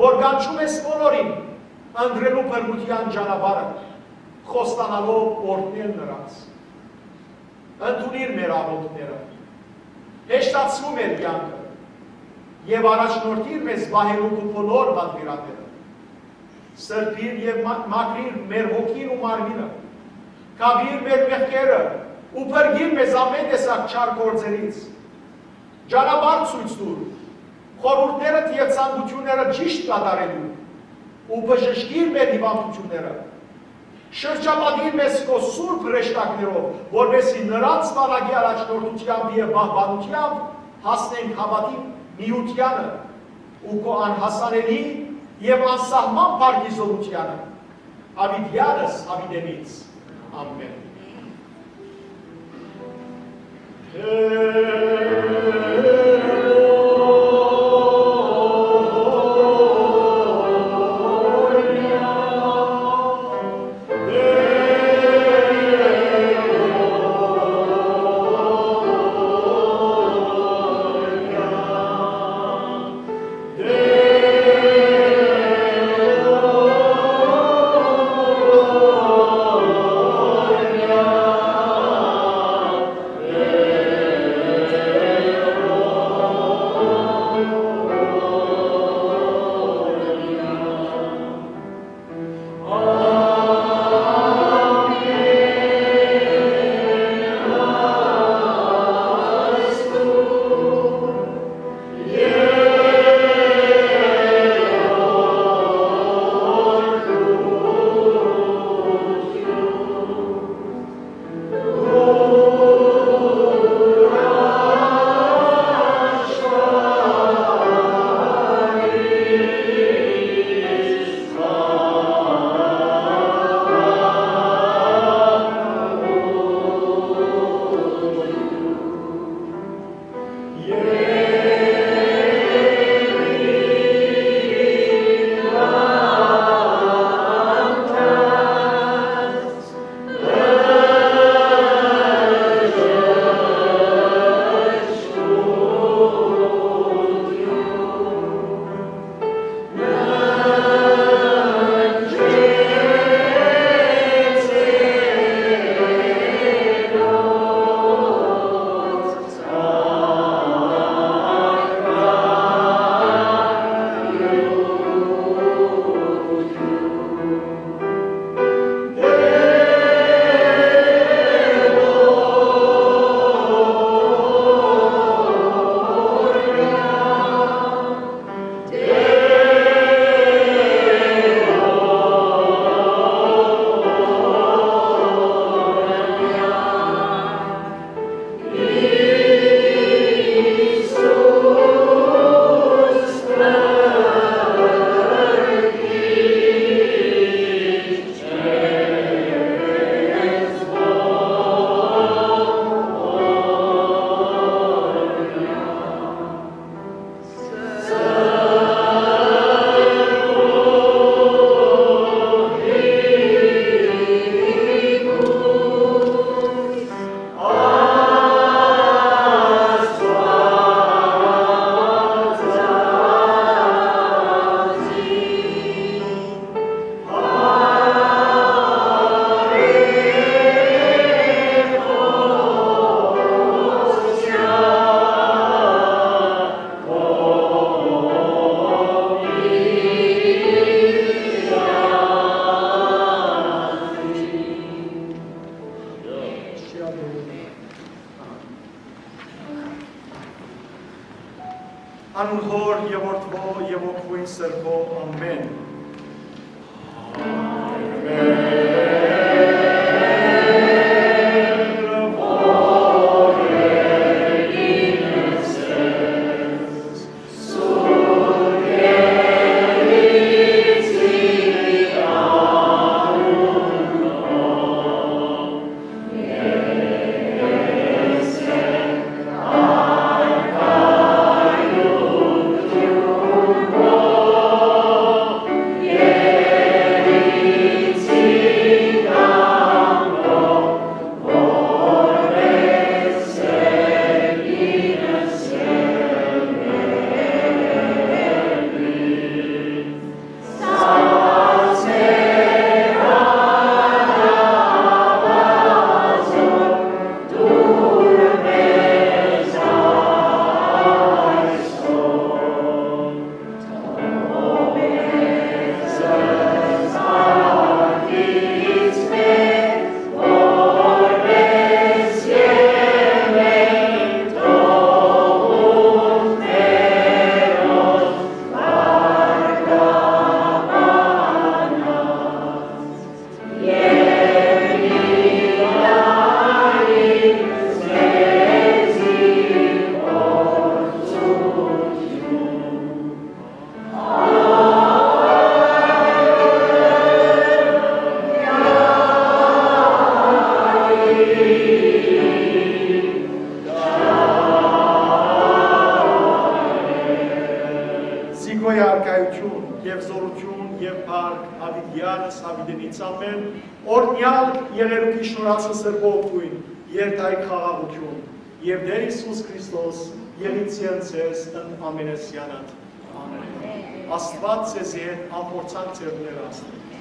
որ կանչում ես բոլորին ընտրելու բռնութեան ճանապարհը, խոստանալով օրհնել նրանց։ Ընդունիր մեր աղօթքները, հեշտացրու մեր կեանքը եւ առաջնորդիր մեզ պահելու քու բոլոր պատվիրանները։ Սրբիր եւ մա-, մաքրիր մեր հոգին ու մարմինը, կապիր մեր մեղքերը ու փրկիր մեզ ամէն տեսակ չար գործերից։ Ճանապարհ ցոյց տուր, խորհուրդներդ եւ ցանկութիւնները ճիշդ կատարելու ու բժշկիր մեր հիվանդութիւնները։ Շրջապատիր մեզ քո սուրբ հրեշտակներով, որպէսզի նրանց վարակի առաջնորդութեամբ եւ պահպանութեամբ հասնենք հաւատի միութեանը ու քո անհասանելի եւ անսահման փառքի զօրութեանը, աւիտեանս աւիտենից։ Ամէն։ Անուն Հօր եւ Որդւոյ եւ Հոգիին Սրբոյ։ Ամէն։ Զիգոյ արքայութիւն եւ զօրութիւն եւ փառք յաւիտեանս յաւիտենիցամէն, օրհնեալ եղերուկի շնորհացն սրբոյ օգտոյն, երթայք խաղաղութիւն, եւ Տէր Յիսուս Քրիստոս եղիցեն ձեզ ընդ ամենեսեանդ։ Ամէն։ Աստուած ձեզի հետ, ափորձանք ձեր ուները Աստուած։